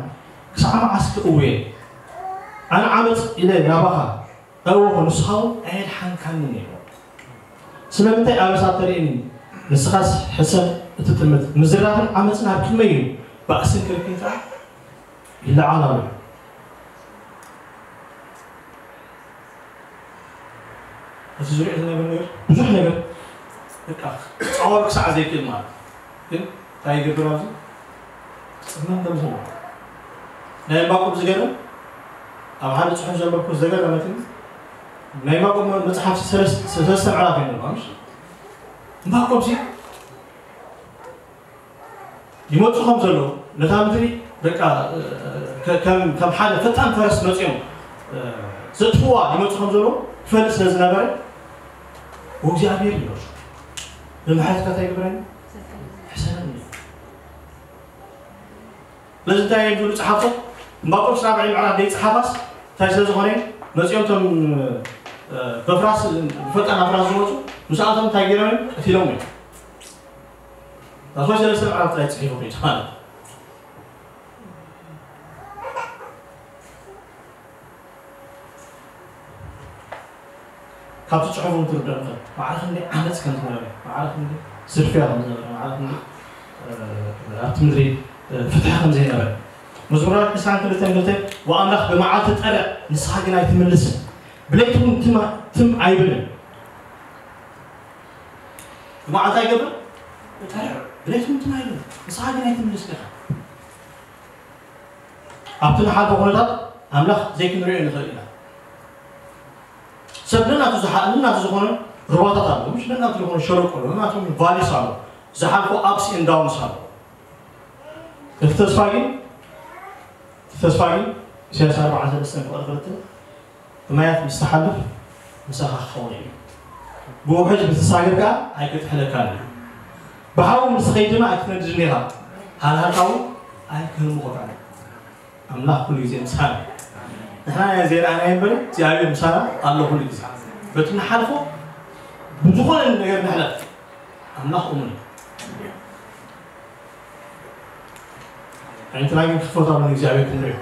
ክሳዕ መዓስ ክእውየ? ኣነ ዓመጽ ኢለ ናባኻ ኣእወኹ፣ ንስኻ እውን ኣየድሓንካንን ኢሉ። ስለምንታይ ኣበሳ ተርእየኒ? ንስኻስ ሕሰብ እትጥምት። ምዝራብን ዓመጽን ኣብ ቅድመይ እዩ፣ ባእስን ክልክን ከኣ ይለዓል ኣሎ። እቲ ዝሪኦ ዝነበረ ነገር ብዙሕ ነገር በቃ ክጻወር ክሳዕ ዘይክእል ማለት እዩ። ግን እንታይ ይገብር ኣብዚ? ክጽመም ከም ዘለዎ። ናይ ዕንባቆም ዝገርም፣ ኣብ ሓደ ጽሑፍ ዘንበብኩ ዝገረመትኒ፣ ናይ ዕንባቆም መጽሓፍ ሰለስተ ሰለስተ ምዕራፍ እዩ ነበር፣ ምሽ? ዕንባቆም ሲ ይመጹ ከም ዘለዉ፣ ነታ ምድሪ በቃ፣ እ፣ ከ-፣ ከም፣ ከም ሓደ ፈጣን ፈረስ መጺኦም፣ እ፣ ዘጥፍዋ ይመጹ ከም ዘለዉ ክፈልጥ ስለ ዝነበረ፣ ወእግዚኣብሔር ይመጹ። ብምሕረትካ እንታይ ይግበረኒ? ሕሰበኒ። ስለዚ እንታይ እዮም ዝብሉ ጸሓፍቶ? ዕንባቆም ራብዓይ ምዕራፍ ደይ ጸሓፋስ እንታይ ስለ ዝኾነ? መጺኦም እቶም፣ እ፣ በፍራስ፣ ብፈጣን ኣፍራስ ዝመጹ፣ ምስኣቶም እንታይ ገይሮም እዮም? ቀቲሎም እዮም። ታስዋይ ሰለስተ ምዕራፍ ጥራይ ጽሒፉ ከይዱ ማለት እዩ። ካብቲ ጽሑፍ እውን ትርዳእ ንኽእል። ማዕረ ክንደይ ዓመጽ ከም ዝነበረ፣ ማዕረ ክንደይ ስርፍያ ከም ዝነበረ፣ ማዕረ ክንደይ ኣብቲ ምድሪ ፍትሒ ከም ዘይነበረ። መዝሙር ዕስራን ክልተን ክልተ፣ ወኣምላኽ ብመዓልቲ ጠርዕ፣ ንስኻ ግን ኣይትምልስን፣ ብለይቲ እውን ትም ኣይብልን። ብመዓልቲ ኣይገብር ጠርዕ፣ ብለይቲ እውን ትም ኣይብልን፣ ንስኻ ግን ኣይትምልስን ኢኻ። ኣብቲ ንሓልፎ ኩነታት ኣምላኽ ዘይክንሪኦ ንኽእል ኢና። ሰብ ነናቱ ዝሓ- ነናቱ ዝኾነ ሩባታት ኣለዎ፣ ምሽ ነናቱ ዝኾነ ሸለቆ ኣለዎ፣ ነናቱ ቫሊስ ኣለዎ፣ ዝሓልፎ ኣፕስ ኤንድ ዳውንስ ኣለዎ። እቲ ተስፋ ግን እቲ ተስፋ ግን ኢሳያስ ኣርባዓ ሰለስተ ፍቕዲ ክልተ ብማያት ምስ ትሓልፍ ምሳኻ ክኸውን እዩ። ብውሕጅ ምስ ትሳገር ከኣ ኣይክጥሕለካን እዩ። ብሓዊ ምስ ትኸይድ ድማ ኣይክትነድድን ኢኻ። ሃልሃልካ እውን ኣይክህምኹካን እዩ። ኣምላኽ ኩሉ ግዜ ምሳና። ንሕና ኢና ዘይረኣናዮ እምበር እግዚኣብሔር ምሳና ኣሎ ኩሉ ግዜ። በቲ ንሓልፎ ብዝኾነ ነገር ንሕለፍ ኣምላኽ እሙን እዩ። ዓይንትና ግን ክፈታሉ ንእግዚኣብሔር ክንሪኦ።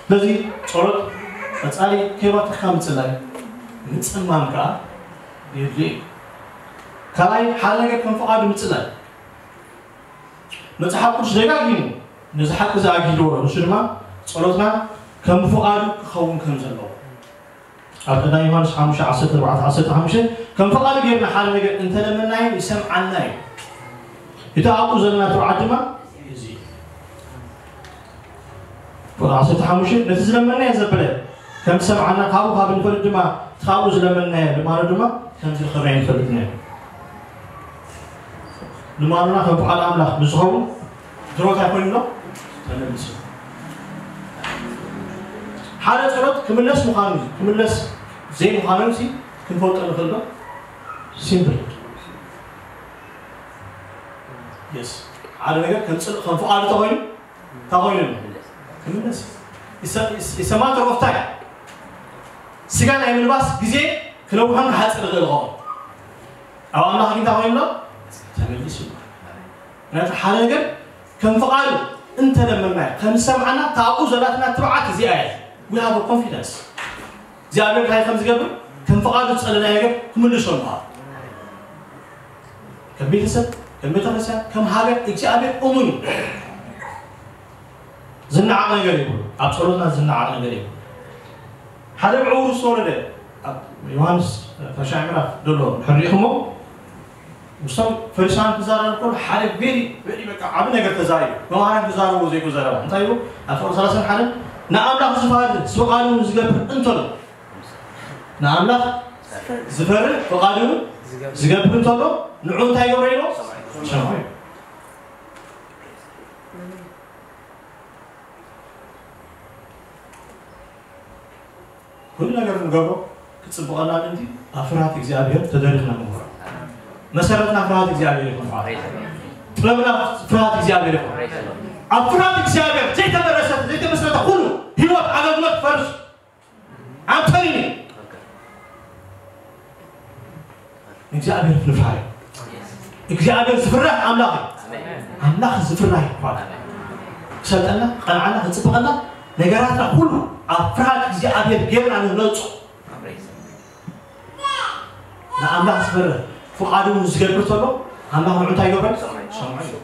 ስለዚ ጸሎት ቀጻሊ ከይባተኽካ ምጽላይ፣ ምጽማም ከኣ የድልዮ እዩ። ካልኣይ ሓደ ነገር ከም ፍቓዱ ምጽላይ። መጽሓፍ ቅዱስ ደጋጊሙ ነዚ ሓቂ እዚ ኣጊድዎ ኣሎ። ንሱ ድማ ጸሎትና ከም ፍቓዱ ክኸውን ከም ዘለዎ። ኣብ ቀዳማይ ዮሃንስ ሓሙሽተ ዓሰርተ ኣርባዕተ ዓሰርተ ሓሙሽተ ከም ፍቓዱ ጌርና ሓደ ነገር እንተለመናዮ ይሰምዓና እዩ። እቲ ኣብኡ ዘለና ትብዓት ድማ እዚ እዩ። ቁጥሪ ዓሰርተ ሓሙሽተ ነቲ ዝለመናዮ ዘበለ ከም ዝሰምዓና ካብኡ ካብ ንፈልጥ ድማ እቲ ካብኡ ዝለመናዮ ልማኖ ድማ ከም ዝረኸብናዮ ንፈልጥ ኢና። ልማኖና ከም ፍቓድ ኣምላኽ ምስ ዝኸውን ድሮ እንታይ ኮይኑ ኣሎ? ተመሊሱ። ሓደ ጸሎት ክምለስ ምዃኑ ክምለስ ዘይምዃኑ ሲ ክንፈልጦ ንኽእል ዶ? ሲምፕል የስ ሓደ ነገር ከም ጽድቅ ከም ፍቓዱ ተኾይኑ እንታይ ኮይኑ ክምለስ። It's a matter of time። ስጋ ናይ ምልባስ ግዜ ክነውሖን ክሓፅር ይኽእል ይኸውን። ኣብ ኣምላኽ ግን እንታይ ኮይኑ ኣሎ? ተመሊሱ ኣሎ። ምክንያቱ ሓደ ነገር ከም ፍቓዱ እንተለመናዮ ከም ዝሰምዓና እታ ኣብኡ ዘላትና ትብዓት እዚኣ እያ። We have a confidence እግዚኣብሔር እንታይ ከም ዝገብር ከም ፍቓዱ ዝጸለናዮ ነገር ክምልሶ ምዃኑ። ከም ቤተሰብ ከም ቤተክርስትያን ከም ሃገር እግዚኣብሔር እሙን እዩ። ዝነዓቕ ነገር የብሉ። ኣብ ጸሎትና ዝነዓቕ ነገር የብሉ። ሓደ ብዕውሩ ዝተወለደ ኣብ ዮሃንስ ታሽዓይ ምዕራፍ ዘሎ ሕሪእኹሞ ምስቶም ፈሪሳውያን ክዛረብ ከሎ ሓደ ቬሪ ቬሪ በቃ ዓቢ ነገር ተዛሪቡ። መምሃራን ክዛረቡ ዘይኮ ዘረባ እንታይ ይብሉ? ኣብ ፍቕሪ ሰላሳን ሓደን ንኣምላኽ ዝፈሪ ዝፍቓዱ ዝገብር እንተሎ ንኣምላኽ ዝፈሪ ፍቓዱ ዝገብር እንተሎ ንዑ እንታይ ይገብሮ ኢሎ? ሰምዖ። ኩሉ ነገር ንገብሮ ክጽብቐና ምእንቲ ኣብ ፍርሃት እግዚኣብሔር ተደሪኽና ንምህሮ። መሰረትና ፍርሃት እግዚኣብሔር ይኹን። ጥበብና ፍርሃት እግዚኣብሔር ይኹን። ኣብ ፍርሃት እግዚኣብሔር ዘይተመረሰተ ዘይተመስረተ ኩሉ ህይወት ኣገልግሎት ፈርስ ኣምተሪኒ ንእግዚኣብሔር ፍልፋይ እግዚኣብሔር ዝፍራሕ ኣምላኽ እዩ። ኣምላኽ ዝፍራሕ ይኳን ክሰልጠና ክቐንዓና ክፅብቐና ነገራትና ኩሉ ኣብ ፍርሃት እግዚኣብሔር ጌርና ንነፁ። ንኣምላኽ ዝፈርህ ፍቓዱ ዝገብር ተሎ ኣምላኽ ንዑ እንታይ ይገብረን? ሰምዖ እዩ።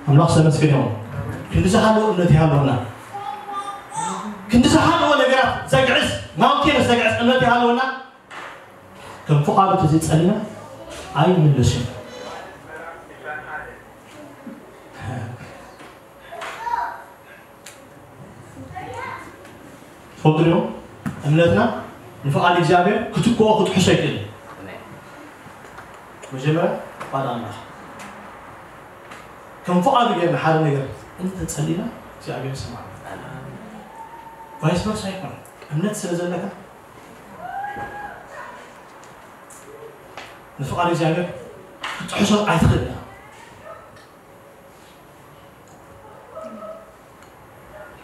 ኣምላኽ ዝተመስገነ ይኹን። ክንዲ ዝሃለወ እምነት ይሃለወና። ክንዲ ዝሃለወ ነገራት ዘግዕዝ ማውንቴንስ ዘግዕዝ እምነት ይሃለወና። ከም ፍቓዱ ተዘይጸሊና ኣይምለስን። ትፈልጡ ዲኹም? እምነትና ንፍቓድ እግዚኣብሔር ክትክኦ ክትሕሶ ኣይክእልን። መጀመርያ ፍቓድ ኣምላኽ ከም ፍቓዱ ጌርና ሓደ ነገር እንተጸሊና እግዚኣብሔር ይሰማዕና። ቫይስ ቨርሳ ኣይኮነን። እምነት ስለ ዘለካ ንፍቓድ እግዚኣብሔር ክትሕሶ ኣይትኽእል ኢኻ።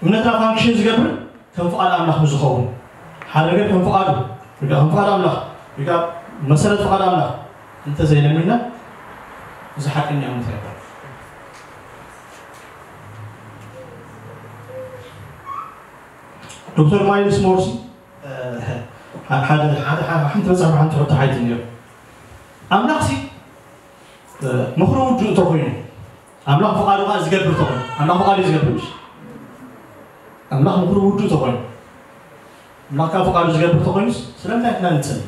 እምነትና ፋንክሽን ዝገብር ከም ፍቓድ ኣምላኽ ምስ ዝኸውን ሓደ ነገር ከም ፍቓዱ ወይ ከዓ ከም ፍቓድ ኣምላኽ ወይ ከዓ መሰረት ፍቓድ ኣምላኽ እንተዘይለሚና እዚ ሓቀኛ እምነት ኣይኮነን። ዶክተር ማይልስ ሞርሲ፣ እ፣ ሓደ፣ ሓደ፣ ሓደ፣ ሓንቲ መጽሓፍ፣ ሓንቲ ሕቶ ሓይቲ ነይሩ። ኣምላኽሲ፣ እ፣ ምኽሩ ውዱእ እንተኾይኑ፣ ኣምላኽ ፍቓዱ ኸዓ ዝገብር እንተኾይኑ፣ ኣምላኽ ፍቓዱ እዩ ዝገብር፣ ምሽ? ኣምላኽ ምኽሩ ውዱእ እንተኾይኑ፣ ኣምላኽ ካብ ፍቓዱ ዝገብር እንተኾይኑስ፣ ስለምንታይ ኢልና ንጽሊ?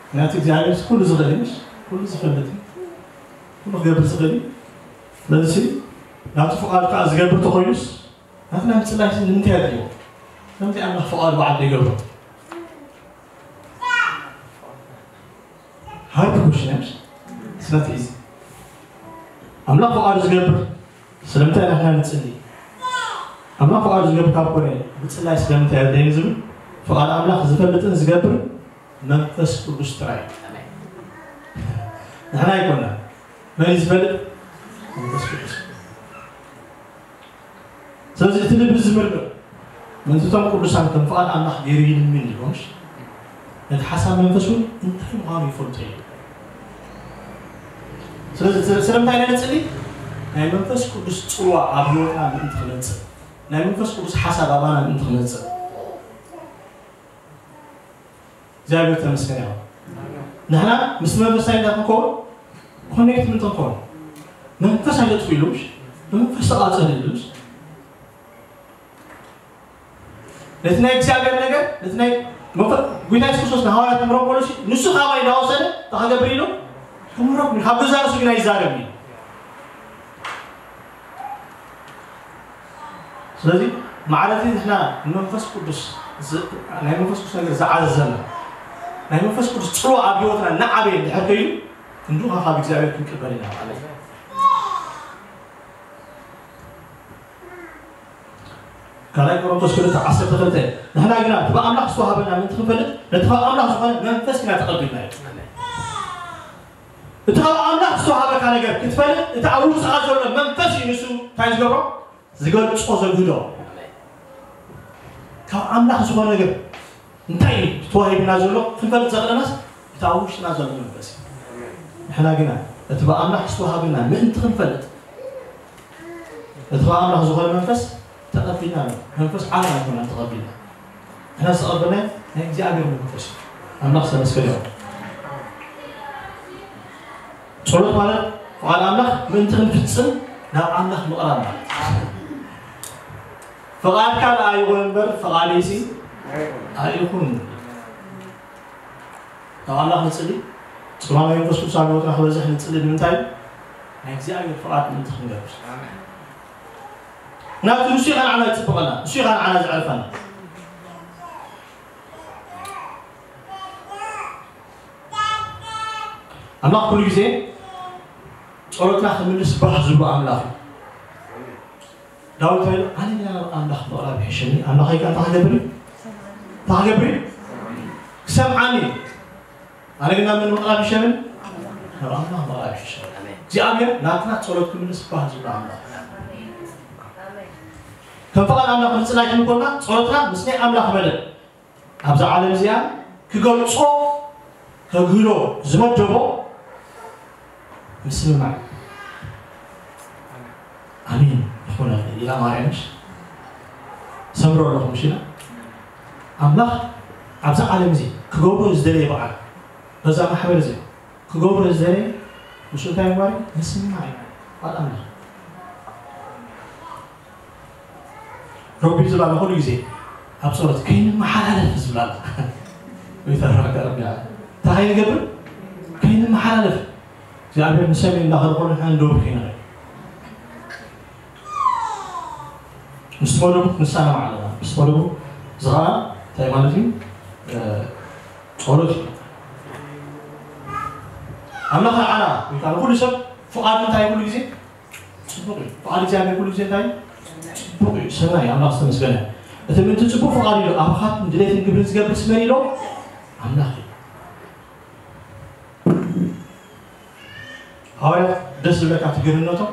ምክንያቱ እግዚኣብሔር ኩሉ ዝኽእል እዩ፣ ምሽ? ኩሉ ዝፈልጥ እዩ፣ ኩሉ ክገብር ዝኽእል እዩ። ስለዚ፣ ናቱ ፍቓዱ ከዓ ዝገብር እንተኾይኑስ፣ ናትና ምጽላይ ንምንታይ ኣድልዮ? ስለምንታይ ኣምላኽ ፍቓዱ በዓል ዘይገብሮ? ሃርድ ኩሽን፣ ምሽ? It's not easy። ኣምላኽ ፍቓዱ ዝገብር ስለምንታይ ናትና ንጽሊ? ኣምላኽ ፍቓዱ ዝገብር ካብ ኮነ፣ ምጽላይ ስለምንታይ ኣድለየ ዝብል ፍቓድ ኣምላኽ ዝፈልጥን ዝገብር መንፈስ ቅዱስ ጥራይ እዩ። ንሕና ኣይኮና። መን እዩ ዝፈልጥ? መንፈስ ቅዱስ። ስለዚ እቲ ልቢ ዝምርምር፣ ምእንቲ እቶም ቅዱሳን ከም ፍቓድ ኣምላኽ ገይሩ ይልምን ኢሉ፣ ምሽ? ነቲ ሓሳብ መንፈስ እውን እንታይ ምዃኑ ይፈልጦ እዩ። ስለዚ፣ ስለ-፣ ስለምንታይ ኢና ንጽሊ? ናይ መንፈስ ቅዱስ ጽልዋ ኣብ ህይወትና ምእንቲ ክመጽእ፣ ናይ መንፈስ ቅዱስ ሓሳብ ኣባና ምእንቲ ክመጽእ። እግዚኣብሔር ተመስገን ይኹን። ንሕና ምስ መንፈስ እንታይ ኢና ክንከውን? ኮኔክት ምእንቲ ክንከውን። መንፈስ ኣይተጥፍኡ ኢሉ፣ ምሽ? ብመንፈስ ተቓጸሉ ኢሉ፣ ምሽ? ነቲ ናይ እግዚኣብሔር ነገር፣ ነቲ ናይ መንፈ-፣ ጎይታ የሱስ ክርስቶስ ንሃዋርያት ምረቆ ኢሉ፣ ንሱ ካባይ እንዳወሰደ እንታይ ክገብር ኢሉ? ክምረቕ፣ ካብ ገዛእ ርእሱ ግን ኣይዛረብን እዩ። ስለዚ ማዕረ እቲ ንሕና ንመንፈስ ቅዱስ ዝ-፣ ናይ መንፈስ ቅዱስ ነገር ዝዓዘዘና፣ ናይ መንፈስ ቅዱስ ጽልዋ ኣብ ህይወትና እናዓበየ እንድሕር ከይዱ፣ ክንድኡ ካብ እግዚኣብሔር ክንቅበል ኢና ማለት እዩ። ካልኣይ ቆሮንቶስ ክልተ ዓሰርተ ክልተ፣ ንሕና ግና እቲ ብኣምላኽ ዝተዋህበና ምእንቲ ክንፈልጥ፣ ነቲ ካብ ኣምላኽ ዝኾነ መንፈስ ኢና ተቐቢልና እዩ። እቲ ካብ ኣምላኽ ዝተዋህበካ ነገር ክትፈልጥ፣ እቲ ኣብ ውሽጥኻ ዘሎ መንፈስ እዩ ንሱ እንታይ ዝገብሮ? ዝገልጾ፣ ዘግህዶ። ካብ ኣምላኽ ዝኾነ ነገር እንታይ እዩ ተዋሂብና ዘሎ ክንፈልጥ ዘኽእለናስ እቲ ኣብ ውሽጥና ዘሎ መንፈስ እዩ። ንሕና ግና እቲ ብኣምላኽ ዝተዋሃበና ምእንቲ ክንፈልጥ፣ እቲ ካብ ኣምላኽ ዝኾነ መንፈስ ተቐቢልና ኣሎ። መንፈስ ዓለም ኣይኮነን ተቐቢልና። ንሕና ዝተቐበልናዮ ናይ እግዚኣብሔር መንፈስ እዩ። ኣምላኽ ዝተመስገነ ይኹን። ጸሎት ማለት ፍቓድ ኣምላኽ ምእንቲ ክንፍጽም ናብ ኣምላኽ ምቕራብ ማለት እዩ። ፍቓድካ ደኣ ይኹን እምበር ፍቓደይሲ ኣይኹን። ናብ ኣምላኽ ንጽሊ። ጽልዋ ናይ መንፈስ ቅዱስ ኣብ ህይወትና ክበዝሕ ንጽሊ። ንምንታይ? ናይ እግዚኣብሔር ፍቓድ ምእንቲ ክንገብር። ናቱ ንሱ ኢኻ ንዓና ዝጽብቐና፣ ንሱ ኢኻ ንዓና ዘዕርፈና። ኣምላኽ ኩሉ ግዜ ጸሎትና ክምልስ ባህ ዝብሎ ኣምላኽ እዩ። ዳዊት እንታይ ኢሉ? ኣነ ግና ናብ ኣምላኽ ምቕራብ ይሕሸኒ። ኣምላኸይ ከኣ እንታይ ክገብር እዩ? እንታይ ክገብር እዩ? ክሰምዓኒ እዩ። ኣነ ግና ናብ መን ምቕራብ ይሕሸኒ? ናብ ኣምላኽ ምቕራብ ይሕሸኒ። እግዚኣብሔር ናትና ጸሎት ክምልስ ባህ ዝብሎ ኣምላኽ። ከም ፍቓድ ኣምላኽ ምጽላይ ክንኮና ጸሎትና ምስ ናይ ኣምላኽ መደብ ኣብዛ ዓለም እዚኣ ክገልጾ ከግህዶ ዝመደቦ ምስምማዕ። ኣሜን ይኹነልኒ ኢላ ማርያም፣ ምሽ? ሰምሮ ኣለኹ፣ ምሽ ኢላ። ኣምላኽ ኣብዛ ዓለም እዚ ክገብሮ ዝደለየ በዓል በዛ ማሕበር እዚ ክገብሮ ዝደለየ ንሱ እንታይ ምግባር እዩ? ምስምማዕ እዩ። ቃል ኣምላኽ። ረቢ ዝብላና ኩሉ ግዜ ኣብ ጸሎት ከይንመሓላለፍ ዝብላና። ወይ ተረጋጋ ረቢ። እንታይ ከይንገብር? ከይንመሓላለፍ። እግዚኣብሔር ንሰሜን እንዳኸደ ኮነ ንሕና ንደቡብ ከይንኸይድ። ምስ መደቡ ክንሰማማዕ ኣለና። ምስ መደቡ እዚ ኸዓ እንታይ ማለት እዩ? እ፣ ጸሎት እዩ። ኣምላኽ ንዓና ወይ ከዓ ንኹሉ ሰብ ፍቓዱ እንታይ ኩሉ ግዜ ጽቡቕ እዩ። ፍቓድ እግዚኣብሔር ኩሉ ግዜ እንታይ እዩ? ጽቡቕ እዩ። ሰናይ እዩ። ኣምላኽ ዝተመስገነ። እቲ ምእንቲ ጽቡቕ ፍቓድ ኢሉ ኣባኻትኩም ድሌትን ግብርን ዝገብር ስመን ኢሎ ኣምላኽ እዩ። ሃዋርያት ደስ ዝብለካ ትግርነቶም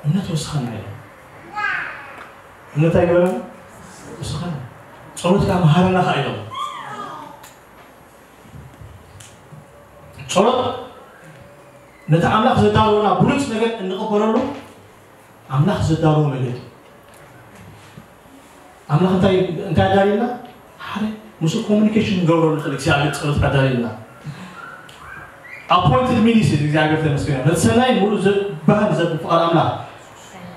እምነት ወስኸና ኢሎም። እምነት ኣይገበረን? ወስኸና። ጸሎት ከዓ መሃረና ከዓ ኢሎም። ጸሎት ነቲ ኣምላኽ ዘዳለወና ብሉጽ ነገር እንቕበለሉ ኣምላኽ ዘዳለዎ መገዲ። ኣምላኽ እንታይ እንታይ ኣዳልየና? ሓደ ምስኡ ኮሚኒኬሽን ንገብረሉ ንኽእል እግዚኣብሔር ጸሎት ኣዳልየና። ኣፖይንትድ ሚኒስትሪ እግዚኣብሔር ተመስገን። ነቲ ሰናይ ሙሉእ ዘባህን ዘብል ፍቓድ ኣምላኽ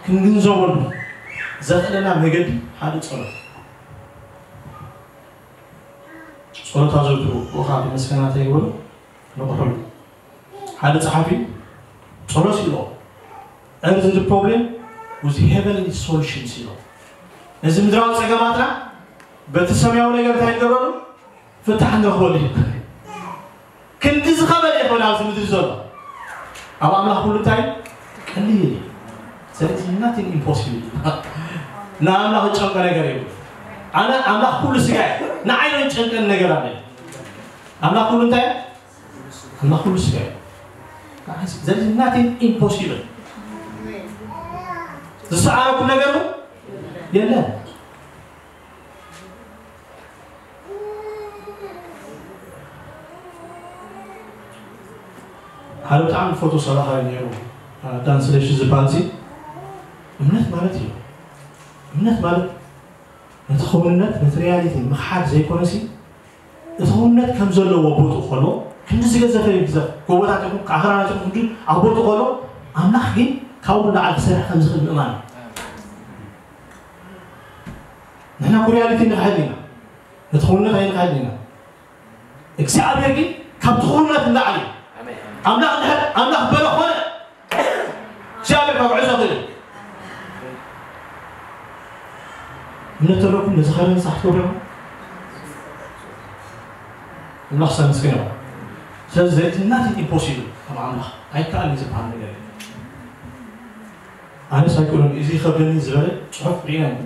ክንግንዘበሉ ዘኽእለና መገዲ ሓደ ጸሎት። ጸሎት ኣዘውትሩ፣ ብኡኻ ብመስገናታ ይበሉ ንቑሑ። ሓደ ጸሓፊ ጸሎት ኢሎ፣ Earthly problem with heavenly solutions ኢሎ። ነዚ ምድራዊ ጸገማትና በቲ ሰማያዊ ነገር እንታይ ንገብረሉ? ፍታሕ ንረኽበሉ እዩ። ክንዲ ዝኸበደ ይኾን ኣብዚ ምድሪ ዘሎ። ኣብ ኣምላኽ ኩሉ እንታይ ቀሊል እዩ። ስለዚህ nothing impossible እዩ። ንኣምላኽ ዝጨንቆ ነገር የብሉ። ኣነ ኣምላኽ ኩሉ ስጋ እዩ። ንዓይ ነው ዝጨንቀን ነገር ኣለ። ኣምላኽ ኩሉ እንታይ? ኣምላኽ ኩሉ ስጋ እዩ። ስለዚህ nothing impossible። ዝሰኣነኩም ነገር የለን። ሓደ ብጣዕሚ ፈቶ ሰባኻይ ነይሩ፣ ዳን ስለሺ ዝበሃል ሲ። እምነት ማለት እዩ። እምነት ማለት ነቲ ክውንነት፣ ነቲ ሪያሊቲ ምኽሓድ ዘይኮነሲ፣ እቲ ክውንነት ከም ዘለዎ ቦትኡ ከሎ፣ ክንዲ ዝገዘፈ ይግዘፍ፣ ጎቦታት ይኹን፣ ኣኽራናት ይኹን፣ ክንዲ ኣብ ቦትኡ ከሎ፣ ኣምላኽ ግን ካብኡ ንላዕሊ ክሰርሕ ከም ዝኽእል ምእማን እዩ። ንሕና እኮ ሪያሊቲ ንኽሕድ ኢና። ነቲ ክውንነት ኣይንኽሕድ ኢና። እግዚኣብሔር ግን ካብቲ ክውንነት ንላዕሊ እዩ። ኣምላኽ እንድሕር ኣምላኽ በለ ኾነ፣ እግዚኣብሔር ካብ ዕዞ ክእል። እምነት ተለኩም ነዚ ኸረ ንሳሕ ትገብሩ ኢኹም። ኣምላኽ ሰመስግን ይኹን። ስለዚ there is nothing impossible ኣብ ኣምላኽ ኣይከኣልን ዝበሃል ነገር የለን። ኣነስ ኣይክእሉን፣ እዚ ይኸብደኒ ዝበለ ጽሑፍ ርኢና ኢና።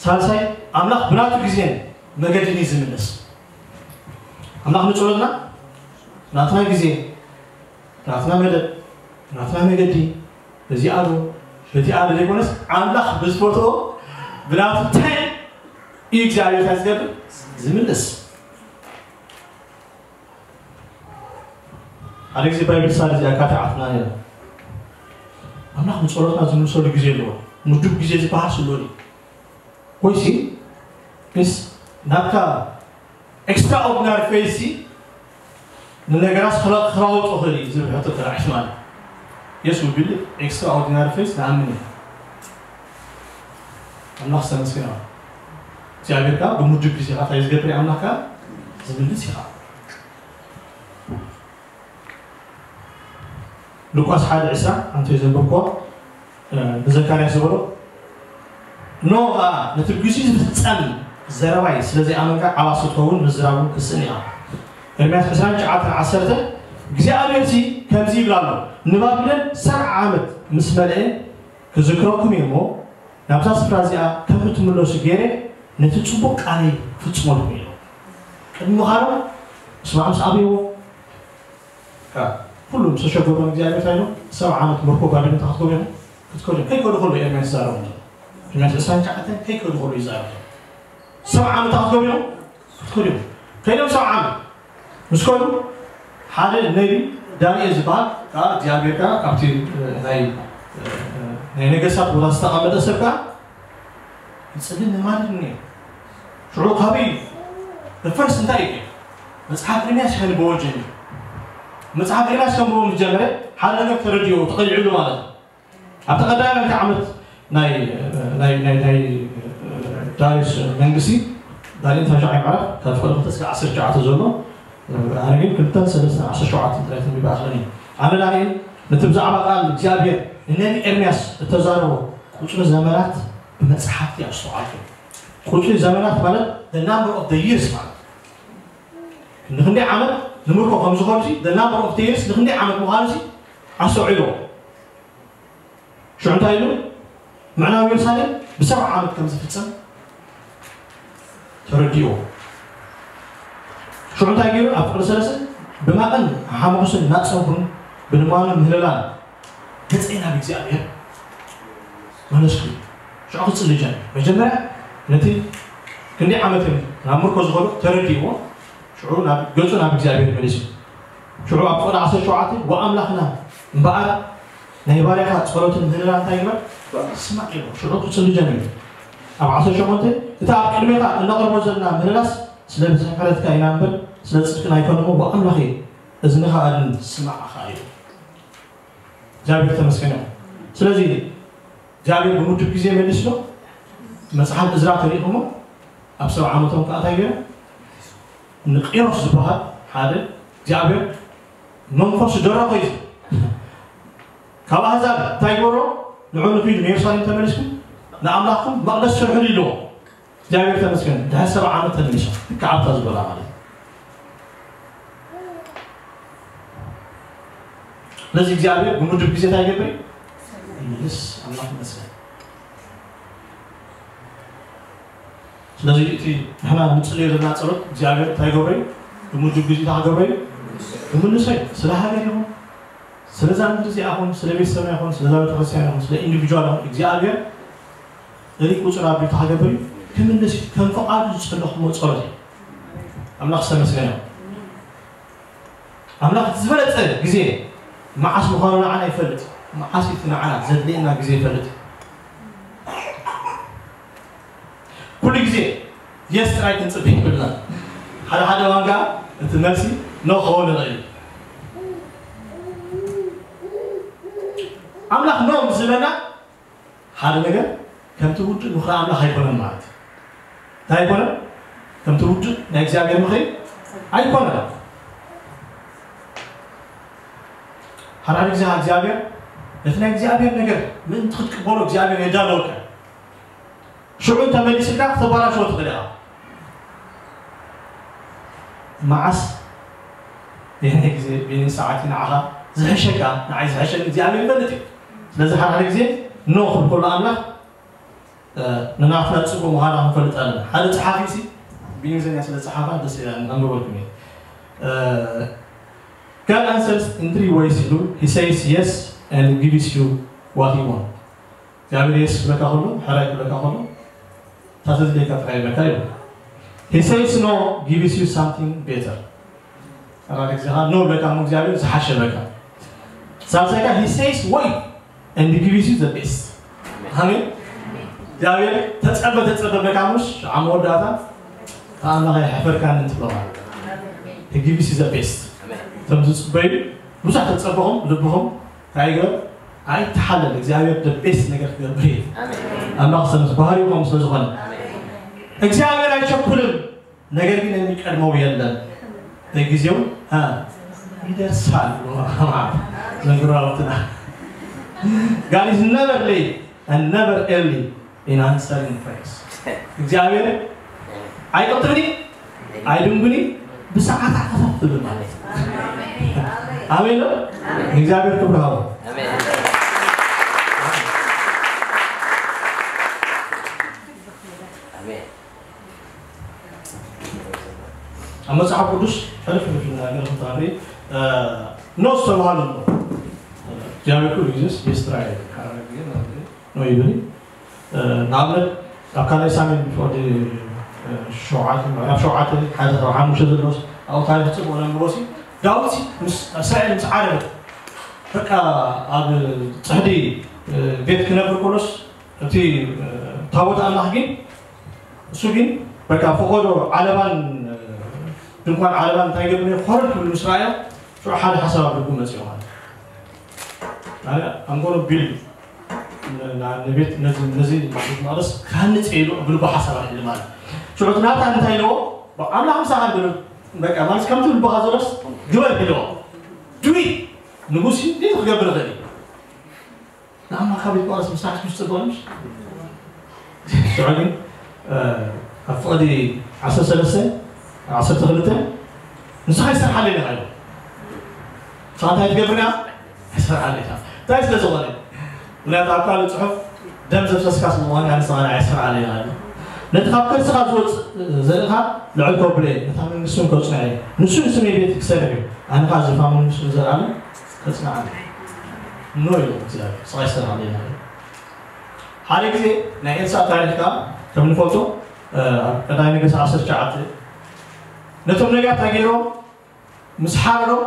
ሳልሳይ፣ ኣምላኽ ብናቱ ግዜን መገድን እዩ ዝምልስ። ኣምላኽ ንጸሎትና ናትና ግዜ፣ ናትና መደብ፣ ናትና መገዲ፣ በዚኣ ዶ በዚኣ ዶ ዘይኮነስ፣ ኣምላኽ ብዝፈትኦ ብናቱ ታይም እዩ እግዚኣብሔር እንታይ ዝገብር? ዝምልስ። ሓደ ግዜ ባይብል ሳል እዚኣ ካቲዓትና ነይራ። ኣምላኽ ንጸሎትና ዝምልሰሉ ግዜ ኣለዎ። ምዱብ ግዜ ዝበሃል ስሎኒ። ወይሲ ምስ ናትካ ኤክስትራኦርዲናሪ ፌዝ ሲ ንነገራት ክለ- ክለዋውጦ ክእል እዩ ዝብል ሕቶ ተራዒት ማለት። የስ ውብል ኤክስትራኦርዲናሪ ፌዝ ንኣምን እዩ። ኣምላኽ ዝተመስገነ ይኹን። እግዚኣብሔር ከዓ ብምዱብ ግዜኻ እንታይ ዝገብር እዩ? ኣምላኽ ከዓ ዝምልስ ኢኻ። ሉቃስ ሓደ ዕስራ ኣንተ ዘንበብኮ ንዘካርያስ ዝበሎ፣ ኖ ኸዓ ነቲ ብግዚኡ ዝፍጸም ዘረባይ ስለ ዘይኣመንካ ዓባስ ክትኸውን ምዝራቡ ክስእን ኢኻ። ኤርምያስ ዕስራን ትሽዓተን ዓሰርተ እግዚኣብሔር ሲ ከምዚ ይብል ኣሎ፣ ንባቢሎን ሰብዓ ዓመት ምስ መልአ ክዝክረኩም እየ እሞ ናብዛ ስፍራ እዚኣ ከም እትምለሱ ገይረ ነቲ ጽቡቕ ቃለይ ክፍጽመልኩም እየ። ቅድሚ ምኻዶም ስማዕ ምስ ኣብይዎ ኩሉ ምስ ተሸገሮም እግዚኣብሔር እንታይ ኢሎም? ሰብዓ ዓመት ምርኮ ባቢሎን እንታይ ክትገብሩ ኢኹም? ክትከዱ ኢኹም። ከይከዱ ከሎ ኤርምያስ ይዛረቦም ዘሎ። ኤርምያስ ዕስራን ትሽዓተን ከይከዱ ከሎ ይዛረቦም። ሰብዓ ዓመት እንታይ ክትገብሩ ኢኹም? ክትከዱ ኢኹም። ከይዶም ሰብዓ ዓመት ምስ ከዱ ሓደ ነቢ ዳንኤል ዝበሃል ከዓ እግዚኣብሔር ከዓ ካብቲ ናይ ናይ ነገስታት ቦታ ዝተቐመጠ ሰብ ከዓ ይጽልን ንማድን ነይሩ። ሽዑ ካበይ ፈርስት እንታይ እዩ? መጽሓፍ ኤርምያስ ከንብቦ ጀሚሩ። መጽሓፍ ኤርምያስ ከንብቦ ምስ ጀመረ ሓደ ነገር ተረዲኦ ተቐሊዕሉ ማለት እዩ። ኣብቲ ቀዳማይቲ ዓመት ናይ ናይ ናይ ናይ ዳርዮስ መንግስቲ ዳንኤል ታሽዓይ ምዕራፍ ካብ ፍቕዲ ክልተ እስከ ዓሰርተ ትሽዓተ ዘሎ ኣነ ግን ክልተን ሰለስተን ዓሰርተ ሸውዓተ ጥራይ ተንቢበ ኣኽእለኒ። ኣነ ዳንኤል ነቲ ብዛዕባ ቃል እግዚኣብሔር ንነቢ ኤርምያስ እተዛረቦ ቁጽሪ ዘመናት ብመጽሓፍቲ ኣስተውዓልኩ። ቁጽሪ ዘመናት ማለት the number of the years ማለት ንክንደይ ዓመት ንምርኮ ከም ዝኾኑ the number of the years ንክንደይ ዓመት ምዃኑ ኣስተውዒልዎ። ሽዑ እንታይ ኢሉ? ምዕናው ኢየሩሳሌም ብሰብዓ ዓመት ከም ዝፍጸም ተረዲእዎ። ሽዑ እንታይ ገይሩ? ኣብ ፍቕሪ ሰለስተ ብማቕን ሓሙኽስን እናጸንኩን ብልማኖን ምህለላን ገጸይ ናብ እግዚኣብሔር መለስኩ። ሽዑ ክጽሊ ጀመረ። መጀመርያ ነቲ ክንደይ ዓመት እዮም ናብ ምርኮ ዝኸዱ ተረዲእዎ። ሽዑ ናብ ገጹ ናብ እግዚኣብሔር መሊሱ። ሽዑ ኣብ ፍቕዲ ዓሰርተ ሸውዓተ ወኣምላኽና እምበኣር ናይ ባርያኻ ጸሎትን ምህለላን እንታይ ይግበር? ስማዕ ኢሉ። ሽዑ ክጽሊ ጀሚሩ። ኣብ ዓሰርተ ሸሞንተ፣ እቲ ኣብ ቅድሜኻ እነቕርቦ ዘለና ምህለላስ ስለ ብዝሒ ምሕረትካ ኢና እምበር ስለ ጽድቅና ኣይኮነን እሞ፣ ኣምላኸይ፣ እዝንኻ ኣድን ስማዕ ኢሉ። እግዚኣብሔር ተመስገን ይኹን። ስለዚ እግዚኣብሔር ብምድብ ግዜ መሊስሎ። መጽሓፍ እዝራ ተሪእኹሞ ኣብ ሰብዓ ዓመቶም ከኣ እንታይ ገይሩ? ንቂሮስ ዝበሃል ሓደ እግዚኣብሔር መንፈሱ ደረኾ እዩ። ካብ ኣህዛብ እንታይ ይገብሮ? ንዑ ንኺዱ ንየሩሳሌም ተመሊስኩም ንኣምላኽኩም መቕደስ ስርሑሉ ኢልዎ። እግዚኣብሔር ተመስገን፣ ድሕሪ ሰብዓ ዓመት ተመሊሶም። ልክዕ ኣብታ ዝበላ ማለት እዩ። ስለዚ እግዚኣብሔር ብምድብ ግዜ እንታይ ይገብር እዩ? ይምልስ። ኣምላኽ ይመስገን። ስለዚ እቲ ንሕና ንጽልዮ ዘለና ጸሎት እግዚኣብሔር እንታይ ይገብሮ እዩ? ብምድብ ግዜ እንታይ ክገብሮ እዩ? ይምልሶ እዩ። ስለ ሃገር ይኹን፣ ስለዛ ምድሪ እዚኣ ይኹን፣ ስለ ቤተሰብና ይኹን፣ ስለዛ ቤተክርስትያን ይኹን፣ ስለ ኢንዲቪጁዋል ይኹን፣ እግዚኣብሔር ሪቅ ቁጽር ኣቢሉ እንታይ ክገብር እዩ? ክምልስ እዩ። ከም ፍቓዱ ዝጸለኹሞ ጸሎት እዩ። ኣምላኽ ዝተመስገነ ይኹን። ኣምላኽ እቲ ዝበለጸ ግዜ መዓስ ምዃኑ ንዓና ይፈልጥ። መዓስ እቲ ንዓና ዘድልየና ግዜ ይፈልጥ። ኩሉ ግዜ የስ ጥራይ ክንጽበ ይብልና። ሓደ ሓደ እዋን ከኣ እቲ መልሲ ኖ ክኸውን ይኽእል እዩ። ኣምላኽ ኖ ምስ ዝበለና ሓደ ነገር ከምቲ ውዱእ ምኽሪ ኣምላኽ ኣይኮነን ማለት እዩ። እንታይ ኣይኮነን? ከምቲ ውዱእ ናይ እግዚኣብሔር ምኽሪ ኣይኮነን። ሓደ ሓደ ግዜ እግዚኣብሔር ነቲ ናይ እግዚኣብሔር ነገር ምእንቲ ክትቅበሎ እግዚኣብሔር የዳለወካ። ሽዑ እንተመሊስልካ ክተበላሽዎ ትኽእል ኢኻ። መዓስ የናይ ግዜ በየናይ ሰዓት እዩ ንዓኻ ዝሕሸካ? ንዓይ ዝሕሸኒ እግዚኣብሔር ይፈልጥ እዩ። ስለዚ ሓደ ሓደ ግዜ ኖ ክብል ከሎ ኣምላኽ ንናትና ጽቡቕ ምዃና ክንፈልጥ ኣለና። ሓደ ጸሓፊ ሲ ብእንግሊዝኛ ስለ ጸሓፋ ደስ ኢላ ነንብበልኩም እየ። God answers in three ways ኢሉ he says yes and gives you what you want። እግዚኣብሔር የስ ክብለካ ከሎ፣ ሕራይ ክብለካ ከሎ፣ እታ ተድልየካ ጥራይ ይብለካ እዩ። He says no gives you something better። ኣራድ ግዜኻ ኖ ብለካ እሞ እግዚኣብሔር ዝሓሸ በካ። ሳልሳይካ he says wait and he gives you the best። ኣሜን። እግዚኣብሔር ተጸበ ተጸበ በካ ምሽ ኣብ መወዳእታ ኣምላኽ ኣይሕፈርካን እንትብሎ ማለት እዩ። He gives you the best። እቶም ዝጽበዩ ብዙሕ ተጸበኹም ልብኹም እንታይ ይግበር? ኣይተሓለል። እግዚኣብሔር the best ነገር ክገብር እዩ። ኣምላኽ ሰምስ ባህሪኡ ከም ስለ ዝኾነ እግዚኣብሔር ኣይቸኩልን። ነገር ግን የሚቀድመው የለም። በጊዜው አ፣ ይደርሳል። ዘንግሮ ኣውትና God is never late and never early in answering prayers። እግዚኣብሔር ኣይቅጥብኒ ኣይድንጉኒ ብሰዓት ኣኸፈፍሉ ማለት እዩ። ኣሜን ነው። እግዚኣብሔር ክብር ሃቦ። ኣብ መጽሓፍ ቅዱስ ሕልፍ ሕልፍ ነገር ክትርኢ ኖ ዝተባሃሉ ኣሎ። እግዚኣብሔር ኩሉ ግዜስ የስትራይ ሓደ ግዜ ማለት እዩ። ኖ ይብል። ንኣብነት ኣብ ካልኣይ ሳሙኤል ብፍቕዲ ሸውዓተ ምዕራፍ ሸውዓተ ሓደ ካብ ሓሙሽተ ዘለዎስ ኣብኡ ታሪኽ ጽቡቕ ነንብቦ ሲ ዳዊት ምስ እስራኤል ምስ ዓረበት በቃ ኣብ ጽሕዲ ቤት ክነብር ከሎስ እቲ ታቦት ኣምላኽ ግን እሱ ግን በቃ ፈቐዶ ዓለባን ድንኳን ዓለባን እንታይ ገብር ኮረድ ክብል ምስ ረኣዮ ሽዑ ሓደ ሓሳብ ኣብ ልቡ መፅኦ ማለት ኣንጎሎ ቢል ንቤት ነዚ ቤት መቅደስ ክሃንፅ ኢሉ ብልቡ ሓሳብ ኣልዒሉ ማለት ሽዑ እቲ ናታን እንታይ ኢልዎ ኣምላኽ ምሳኻ ብሉ በቃ ማለት ከምቲ ልብኻ ዘሎስ ግበር ኢልዎ ድዊ ንጉስ እንዴት ክገብር ይኽእል እዩ ንኣማ ካብ ይቋረስ ምሳሕ ምስ ጽቡቕምሽ ሽዑ ግን ኣብ ፍቕዲ ዓሰርተ ሰለስተ ዓሰርተ ክልተ ንስኻ ይሰርሓለይ ኢኻ ኢሉ ንስኻ እንታይ ትገብር ኢኻ ይሰርሓለይ ኢኻ እንታይ ስለ ዝኾነ ምክንያቱ ኣብ ካልእ ጽሑፍ ደም ዘፍሰስካ ስለ ዝኾነ ንስኻ ንዓይ ይሰርሓለይ ኢኻ ኢሉ ነቲ ካብ ከርስኻ ዝወጽእ ዘርእኻ ልዕል ከብሎ እየ ነታ መንግስቲ እውን ከጽንዖ እየ ንሱ ንስመይ ቤት ክሰርሕ እዩ ኣነ ኸዓ ዝፋ መንግስቱ ንዘለኣለም ተጽንዓኒ ኖ ኢሉ እግዚኣብሔር ስቓይ ሰላም የናለ ሓደ ግዜ ናይ ኤልሳዕ ታሪክ ከዓ ከም ንፈልጦ ኣብ ቀዳማይ ነገስት ዓሰርተ ትሽዓተ ነቶም ነቢያት እንታይ ገይሮም ምስ ሓረዶም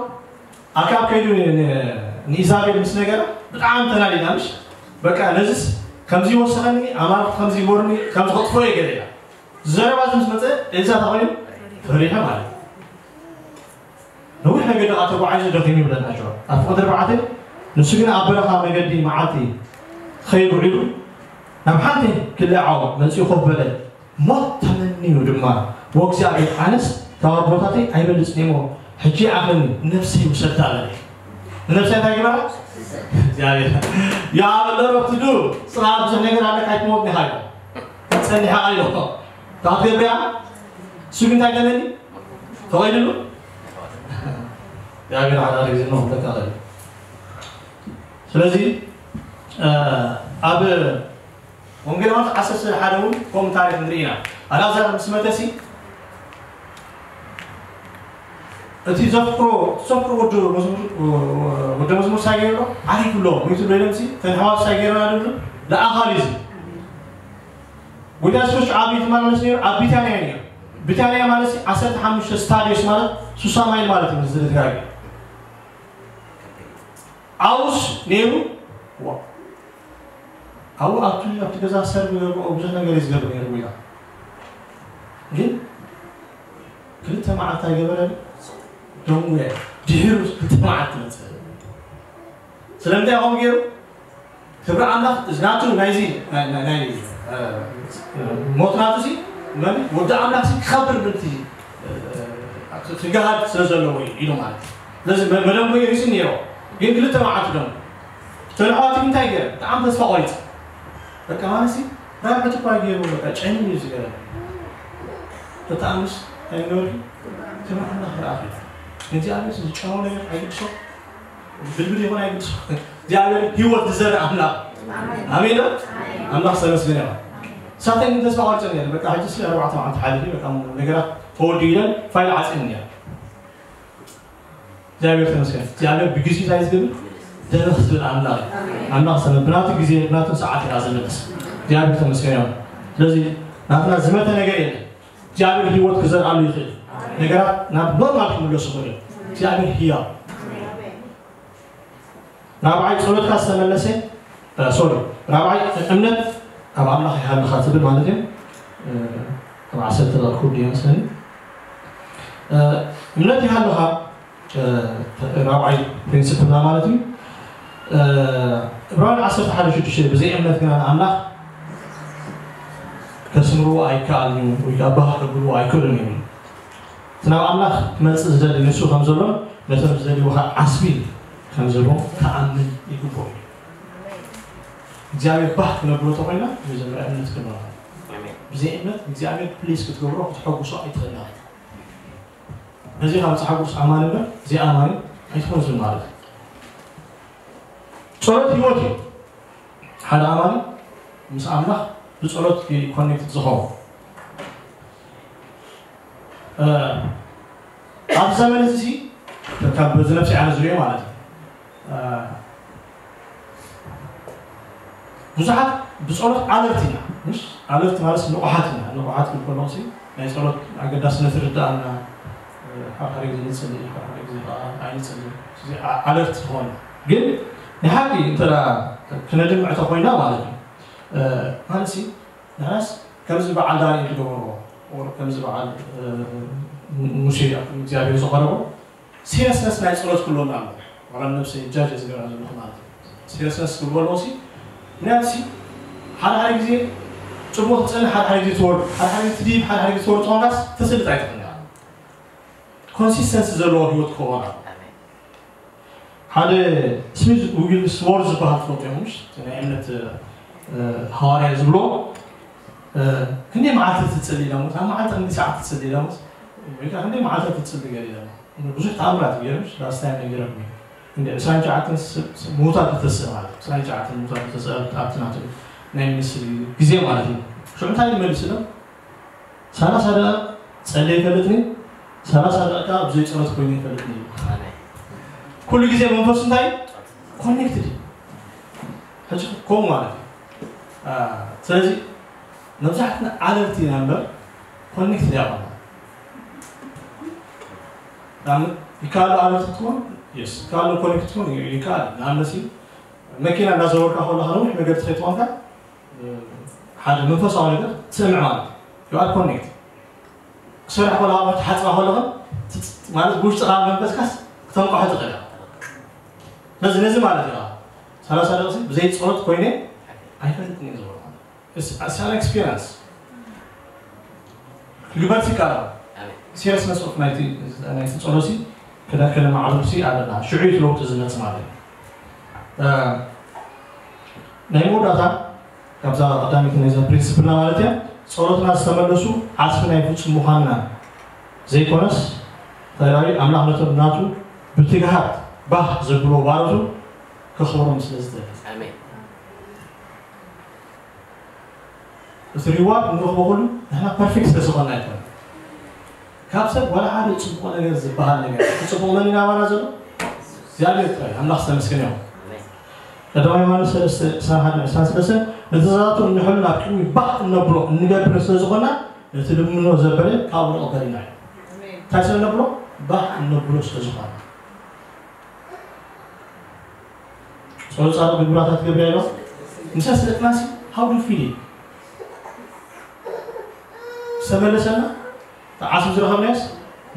ኣክኣብ ከይዱ ን- ን- ንኢዛቤል ምስ ነገራ ብጣዕሚ ተናዲዳ። ምሽ በቃ ነዚስ ከምዚ ይወሰኸኒ፣ ኣማልኽቲ ከምዚ ይበሩኒ፣ ከምዚ ከጥፍኦ እየ ገለ ኢላ። ዘረባ እዚ ምስ መፀ ኤልሳ እንታይ ኮይኑ? ፈሪሐ ማለት እዩ። ነዊሕ መገዲ ከዓ ተጓዒዙ ደኺሙ ይብለና ጆ ኣብ ፍቕዲ ኣርባዕተ። ንሱ ግን ኣብ በረኻ መገዲ መዓልቲ ክኸይድ ውዒሉ ናብ ሓንቲ ክልዓው መፂኡ ኮፍ በለ። ሞት ተመንዩ ድማ፣ "ወእግዚኣብሔር፣ ኣነስ ካብ ኣቦታተይ ኣይበልጽን እየ እሞ፣ ሕጂ ይኣኽለኒ፣ ነፍሰይ ውሰዳ" በለ። ንነፍሰይ እንታይ ግበራ? እግዚኣብሔር። "ያ በለ ሮትዱ፣ ጽናት ብዙሕ ነገር ኣለካ፣ ኣይትሞት ዲኻ?" ኢሉ። ጸኒሓ ኢሎ። ታትገብያ፣ እሱ ግን እንታይ ገለኒ? ተቐይድሉ? እግዚኣብሔር ሓደ ሓደ ግዜ ነው ተቃለል። ስለዚ፣ እ፣ ኣብ ወንጌል ማቴዎስ ዓሰርተ ሓደ እውን ከምኡ ታሪኽ ንርኢ ኢና። ኣልኣዛር ምስ መተሲ፣ እቲ ዘፍቅሮ፣ ዘፍቅሮ ወዲ መዝሙር፣ ወዲ መዝሙር ሳይ ገይሩ፣ ዓሪፉ ኣሎ፣ ሞይቱ ኣሎ ኢሎም ሲ፣ ተን ኣሕዋት ሳይ ገይሩ ኣለሉ፣ ለኣኻል እዩ። ጎይታ የሱስ ኣብ ቤት ማርያም ነይሩ፣ ኣብ ቢታንያ እዩ ነይሩ። ቢታንያ ማለት ሲ፣ ዓሰርተ ሓሙሽተ ስታዲዮስ ማለት፣ ሱሳ ማይል ማለት እዩ፣ ዝድጋግ። ኣብኡስ ነይሩ፣ ዋ። ኣብኡ ኣብቲ፣ ኣብቲ ገዛ ሰርግ ገብሮ ብዙሕ ነገር እዩ ዝገብር ነይሩ ጎይታ። ግን ክልተ መዓልቲ ኣይገበረን፣ ደንጉየ። ድሒሩ ክልተ መዓልቲ መጸ። ስለምንታይ ከምኡ ገይሩ? ክብሪ ኣምላኽ፣ እዚ ናቱ ናይዚ፣ ናይ፣ ናይ፣ ናይ፣ እ፣ ሞት ናቱ ሲ፣ መን? ወዲ ኣምላኽ ሲ ክኸብር ምንቲ፣ እ፣ እ፣ ክገሃድ ስለ ዘለዎ እዩ ኢሉ ማለት እዩ። ስለዚ መ-፣ መደንጎ ይሪሲ ነይሮ። ግን ክልተ መዓልቲ ደሞ። ተን ኣሕዋት እንታይ ገይረ? ብጣዕሚ ተስፋ ቆሪጸ። በቃ ማለት ሲ፣ ራብዕቲ እኳ ገይሩ፣ በቃ ጨኒኑ እዩ ዝገበረ። በጣዕምስ ኣይነበርኩ? ክብሪ ኣምላኽ ረኣኹ። ንእግዚኣብሔር ዝጨነዎ ነገር ኣይግድሶ። ብልብል ይኹን ኣይግድሶ። እግዚኣብሔር ህይወት ዝዘርእ ኣምላኽ። ኣሜን ዶ? ኣምላኽ ዝተመስገነ ይኹን። ሳተን ግን ተስፋ ቆሪጸ ነይረ። በቃ ሕጂ ሲ ኣርባዕተ መዓልቲ ሓሊፉ፣ በቃ ነገራት ተወዲኡ ኢለን ፋይል ዓጽየን ነይረ። እግዚኣብሔር ተመስገን። እግዚኣብሔር ብግዜ እንታይ ዝገብር? ደረኽ ዝብል ኣምላኽ እዩ። ኣምላኽ ዝተመ-፣ ብናቱ ግዜ፣ ብናቱ ሰዓት ኢና ዝምለስ። እግዚኣብሔር ተመስገን ይኹን። ስለዚ ናትና ዝመተ ነገር የለን። እግዚኣብሔር ህይወት ክዘርኣሉ ይኽእል። ነገራት ናብ ኖርማል ክምለሱ ይኽእሉ። እግዚኣብሔር ህያው። ራብዓይ ጸሎትካ ዝተመለሰ፣ እ፣ ሶሪ፣ ራብዓይ እምነት ኣብ ኣምላኽ ይሃልኻ ትብል ማለት እዩ። እ፣ ኣብ ዓሰርተ ደቂቕ ክውድእ ይመስለኒ። እ፣ እምነት ይሃልኻ፣ እ፣ ራብዓይ ፕሪንሲፕልና ማለት እዩ። እ፣ ዕብራውያን ዓሰርተ ሓደ ሽዱሽተ፣ "ብዘይ እምነት ግና ንኣምላኽ ከስምርዎ ኣይከኣልን እዩ፣ ወይ ከዓ ባህ ከብልዎ ኣይክእሉን እዮም" ይብል። እቲ ናብ ኣምላኽ ክመጽእ ዝደሊ ንሱ ከም ዘሎን ነቶም ዝደልይዎ ከዓ ዓስቢ ከም ዝህቦም ክኣምን ይግብኦ እዩ። እግዚኣብሔር ባህ ክነብሎ ተኾይና መጀመርያ እምነት ክህልወና። ኣሜን። ብዘይ እምነት እግዚኣብሔር ፕሊስ ክትገብሮ ክትሐጉሶ ኣይትኽእልን ኢኻ። ነዚ ካብ ዝሓጉስ ኣማኒ እምበር ዘይኣማኒ ኣይትኾን ዝብል ማለት እዩ። ጸሎት ህይወት እዩ። ሓደ ኣማኒ ምስ ኣምላኽ ብጸሎት እዩ ኮኔክትድ ዝኸውን። እ፣ ኣብዚ ዘመን እዚ ሲ፣ ካብ በዚ ነፍሲ ኣነ ዝሪኦ ማለት እዩ። እ፣ ብዙሓት ብጸሎት ኣለርት ኢና፣ ምሽ? ኣለርት ማለት ንቑሓት ኢና። ንቑሓት ክብል ከለኹ ሲ፣ ናይ ጸሎት ኣገዳስነት ይርድኣና። እ፣ ሓደ ሓደ ግዜ ንጽሊ፣ ሓደ ሓደ ግዜ ከዓ ኣይንጽልን። እዚ ኣ-፣ ኣለርት ዝኾነ። ግን ናይ ሓቂ እንተ ደኣ ክነድምዕ ተኾይና ማለት እዩ። እ፣ ማለት ሲ፣ ንሕናስ ከምዚ በዓል ዳንኤል ዝገበርዎ፣ or ከምዚ በዓል፣ እ፣ ሙሴ ኣብ ቅድሚ እግዚኣብሔር ዝቐረቦ፣ ሲሪየስነስ ናይ ጸሎት ክህልወና ኣለዎ። ዋላ ነብሰይ ጃጅ ዝገብራ ዘለኹ ማለት እዩ። ሲሪየስነስ ክህልዎ ኣለዎ ሲ፣ ምክንያቱ ሲ፣ ሓደ ሓደ ግዜ ጽቡቕ ትጸሊ፣ ሓደ ሓደ ግዜ ትወርድ፣ ሓደ ሓደ ግዜ ትድይብ፣ ሓደ ሓደ ግዜ ትወርድ ተኾንካስ፣ ተስልጥ ኣይትኽእልን ኢኻ። ኮንሲስተንሲ ዘለዎ ህይወት ክኸውን ኣለዎ። ሓደ ስሚዝ ዊግልስዎርዝ ዝበሃል ትፈልጡ ኢኹም፣ ምሽ? እቲ ናይ እምነት፣ እ፣ ሃዋርያ ዝብሎ፣ እ፣ ክንደይ መዓልቲ ትጽሊ ኢሎምስ? ኣብ መዓልቲ ክንደይ ሰዓት ትጽሊ ኢሎምስ? ወይ ከዓ ክንደይ መዓልቲ ትጽሊ ገለ ኢሎሞ። ብዙሕ ተኣምራት ገይሩ፣ ምሽ? ላስት ታይም ነጊረኩም እየ። ክንደይ ዕስራን ትሽዓተን ስ-፣ ስ-፣ ምዉታት ዝተስእ ማለት እዩ። ዕስራን ትሽዓተን ምዉታት ዝተስእ ኣብቲ ናቱ ናይ ሚኒስትሪ ግዜ ማለት እዩ። ሽዑ እንታይ ይመልስ ኢሎም? ሰላሳ ደቂቕ ጸልየ ይፈልጥኒ፣ ሰላሳ ደቂቃ ብዘይ ጸሎት ኮይነ ይፈልጥኒ እዩ። ኩሉ ግዜ መንፈሱ እንታይ? ኮኔክትድ እዩ። ሕጂ ከምኡ ማለት እዩ። አ፣ ስለዚ መብዛሕትና ኣለርት ኢና እምበር ኮኔክትድ ኣይኮና። ንኣብነት ይከኣል ኣለርት ክትኮን ካልእ ኮኔክት ክኸውን ይከኣል። ንኣብነት መኪና እናዘወርካ ከለኻ ነዊሕ መገዲ ትኸይድ ኮንካ ሓደ መንፈሳዊ ነገር ትስምዕ ማለት እዩ። You are connect። ክሰርሕ ከለኻ ትሓፅባ ከለኻ ማለት ብውሽጥኻ መንፈስካስ ክተንቋሖ ትኽእል። ነዚ ነዚ ማለት እዩ። ሰላሳ ደቂሲ ብዘይ ፀሎት ኮይነ ኣይፈልጥን እየ ዝበሎ። It's an experience። ክግበር ይከኣል። Seriousness of ናይቲ ናይቲ ጸሎሲ ክዳ ከነማዕብል ሲ ኣለና ሽዑ ለውጢ ዝመጽእ ማለት እዩ። ናይ መወዳእታ ካብዛ ቀዳሚት ናይዛ ፕሪንስፕልና ማለት እያ። ጸሎትና ዝተመለሱ ዓስቢ ናይ ፍጹም ምዃንና ዘይኮነስ ተራዊ ኣምላኽ ነቶም ናቱ ብትግሃት ባህ ዘብሎ ባሮቱ ከኽብሮም ስለ ዝደሊ። እቲ ሪዋርድ ንረኽቦ ኩሉ ንሕና ፐርፌክት ስለ ዝኾንና ኣይኮነ። ካብ ሰብ ዋላ ሓደ ፅቡቕ ነገር ዝበሃል ነገር እቲ ፅቡቕ መን ናባና ዘሎ እግዚኣብሔር ጥራይ ኣምላኽ ዝተመስገነ ይኹን። ቀዳማይ ዮሃንስ ሰለስተ ዕስራን ሓደን ዕስራን ሰለስተን ነቲ ዛቱ እንሕሉ ናብ ቅድሚ ባህ እነብሎ እንገብር ስለ ዝኾንና ነቲ ልምኖ ዘበለ ካብኡ ንቕበል ኢና እዩ። እንታይ ስለ ነብሎ ባህ እነብሎ ስለ ዝኾነ ጸሎት ጻድቕ ግብራታት ገብርያ ኢሎም ምሳስ ደቅናሲ how do you feel it ዝተመለሰና ተዓስብ ዝረኸብናዮስ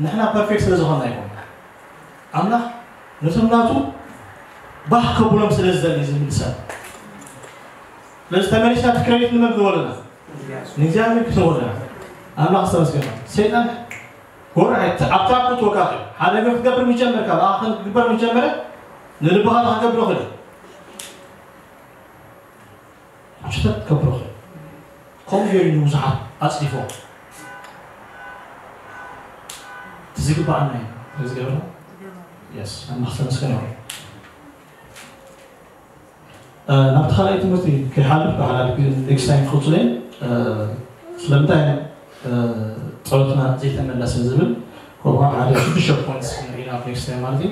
ንሕና ፐርፌክት ስለ ዝኾንና ይኮን ኣምላኽ ነቶም ናቱ ባህ ከብሎም ስለ ዝደሊ ዝምልሰን ስለዚ ተመሊስና እቲ ክሬዲት ንመን ክወለና ንእግዚኣብሔር ክተወለና ኣምላኽ ዝተመስገና ሰይጣን ወርሒ ኣብ ትራፕ ክትወድቅ ሓደ ነገር ክትገብር ምስ ጀመርካ ብኣኻ ክግበር ምስ ጀመረ ንልብኻ ክገብሮ ክእል ሽተት ክገብሮ ክእል ከምኡ ገይሩ ንብዙሓት ኣፅዲፎ እቲ ዝግባኣና እዩ ዝገብረ የስ ኣምላኽ ዝተመስገነ ይኹን ናብቲ ካልኣይ ትምህርቲ ከይሓልፍ ብሓላል ኔክስት ታይም ክቕፅሎ እየ ስለምንታይ ፀሎትና ዘይተመለሰ ዝብል ከምኡ ሓደ ሽዱሽተ ፖይንትስ ክንርኢ ናብ ኔክስት ታይም ማለት እዩ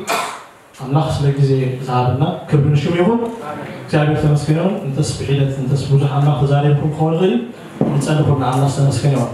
ኣምላኽ ስለ ግዜ ዝሃበና ክብሪ ንሽሙ ይኹን እግዚኣብሔር ተመስገን ይኹን እንተስ ብሒደት እንተስ ብዙሕ ኣምላኽ ተዛሪብኩም ክኸውን ይኽእል እዩ ንፀሊ ኩልና ኣምላኽ ዝተመስገን ይኹን